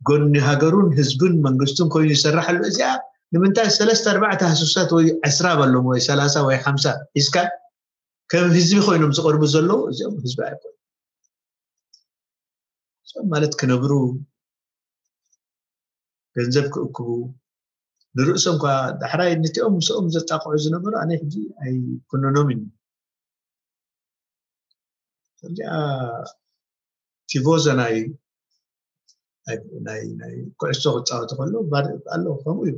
ጎኒ ሃገሩን ህዝብን መንግስቱን ኮይኑ ይሰርሓሉ እዚኣ ንምንታይ ሰለስተ ኣርባዕተ ሃሱሳት ወይ ዕስራ በሎም ወይ ሰላሳ ወይ ሓምሳ ሒዝካ ከም ህዝቢ ኮይኖም ዝቐርቡ ዘለዉ እዚኦም ህዝቢ ኣይኮኑ ማለት ክነብሩ ገንዘብ ክእክቡ ንርእሶም ኳ ዳሕራይ ነቲኦም ምስኦም ዘጣቕዑ ዝነበሩ ኣነ ሕጂ ኣይኩነኖምን እዩ እዚኣ ቲቮዘ ናይ ናይ ናይ ኩዕሶ ክፃወቱ ከለዉ ኣሎ ከምኡ እዩ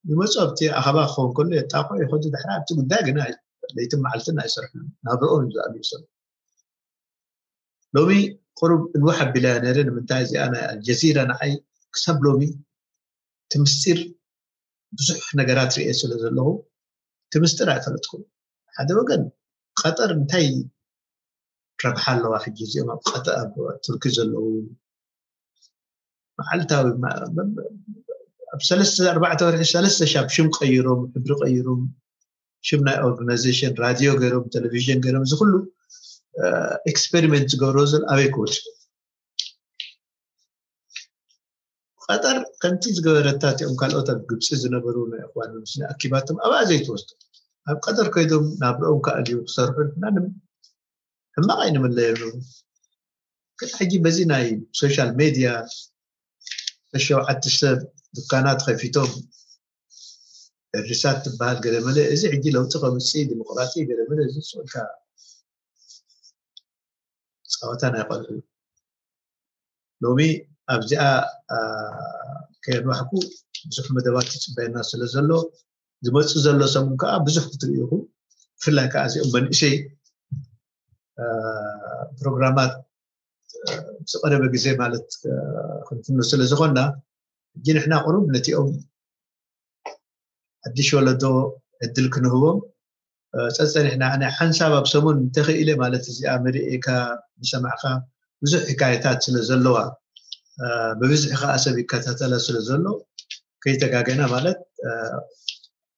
ይመፁ ኣብቲ ኣኸባ ክኸውን ከሎ የጣቕዑ ይኸዱ ድሕራ ኣብቲ ጉዳይ ግና ለይትን መዓልትን ኣይሰርሕሉ ናብርኦም እዩ ዝኣልዩ ሰብ ሎሚ ቁሩብ እንውሕ ኣቢላ ነረ ንምንታይ እዚኣ ናይ ኣልጀዚራ ንዓይ ክሳብ ሎሚ እቲ ምስጢር ብዙሕ ነገራት ርእየ ስለ ዘለኹ እቲ ምስጢር ኣይፈለጥኩም ሓደ ወገን ቀጠር እንታይ ረብሓ ኣለዋ ሕጂ እዚኦም ኣብ ቀጠ ኣብ ቱርኪ ዘለዉ መዓልታዊ ኣብ ሰለስተ ኣርባዕተ ወርሒ ሰለስተ ሻብ ሽም ቀይሮም ሕብሪ ቀይሮም ሽም ናይ ኦርጋናይዜሽን ራድዮ ገይሮም ቴሌቪዥን ገይሮም እዚ ኩሉ ኤክስፐሪመንት ዝገብሮ ዘሎ ኣበይ ክወድቁ ቀጠር ከምቲ ዝገበረታ እቲኦም ካልኦት ኣብ ግብፂ ዝነበሩ ናይ እኽዋን ሙስሊም ኣኪባቶም ኣብኣ ዘይትወስዱ ኣብ ቀጠር ከይዶም ናብርኦም ከኣልዩ ክሰርሑ ሕማቕ ኣይንምለየሉ ግን ሕጂ በዚ ናይ ሶሻል ሜድያ ሸውዓተ ሰብ ዱካናት ከፊቶም እርሳት ትበሃል ገለመለ እዚ ሕጂ ለውጢ ከምፅእ ዲሞክራሲ ገለመለ እዚ ፅልካ ፀወታ ናይ ቆልዑ ሎሚ ኣብዚኣ ከየድማሕኩ ብዙሕ መደባት ይፅበየና ስለ ዘሎ ዝመፅእ ዘሎ ሰሙን ከዓ ብዙሕ ክትርኢ ኢኹም ብፍላይ ከዓ እዚኦም መንእሰይ ፕሮግራማት ዝቀረበ ግዜ ማለት ክንፍኖ ስለ ዝኾንና፣ ሕጂ ንሕና ቁሩብ ነቲኦም ሓድሽ ወለዶ ዕድል ክንህቦም ጸጸኒሕና። ኣነ ሓንሳብ ኣብ ሰሙን እንተኽኢለ ማለት እዚኣ መሪኤካ ዝሰማዕካ ብዙሕ ሕካየታት ስለ ዘለዋ፣ ብብዝሒ ከዓ ሰብ ይከታተላ ስለ ዘሎ፣ ከይተጋገና ማለት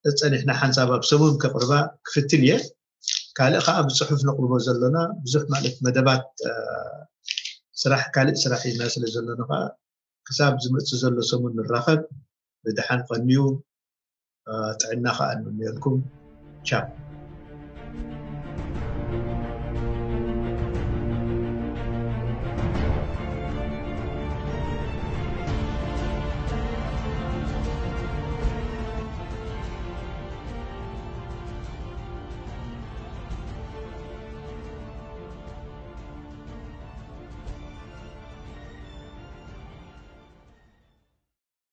ጸጸኒሕና ሓንሳብ ኣብ ሰሙን ከቕርባ ክፍትን እየ። ካልእ ከዓ ብጽሑፍ ነቕርቦ ዘለና ብዙሕ ማለት መደባት ስራሕ፣ ካልእ ስራሕ ኢና ስለ ዘለና ከዓ ክሳብ ዝመጽእ ዘሎ ሰሙን ንራኸብ። ብደሓን ቀንዩ፣ ጥዕና ከዓ እንምነየልኩም። ቻው።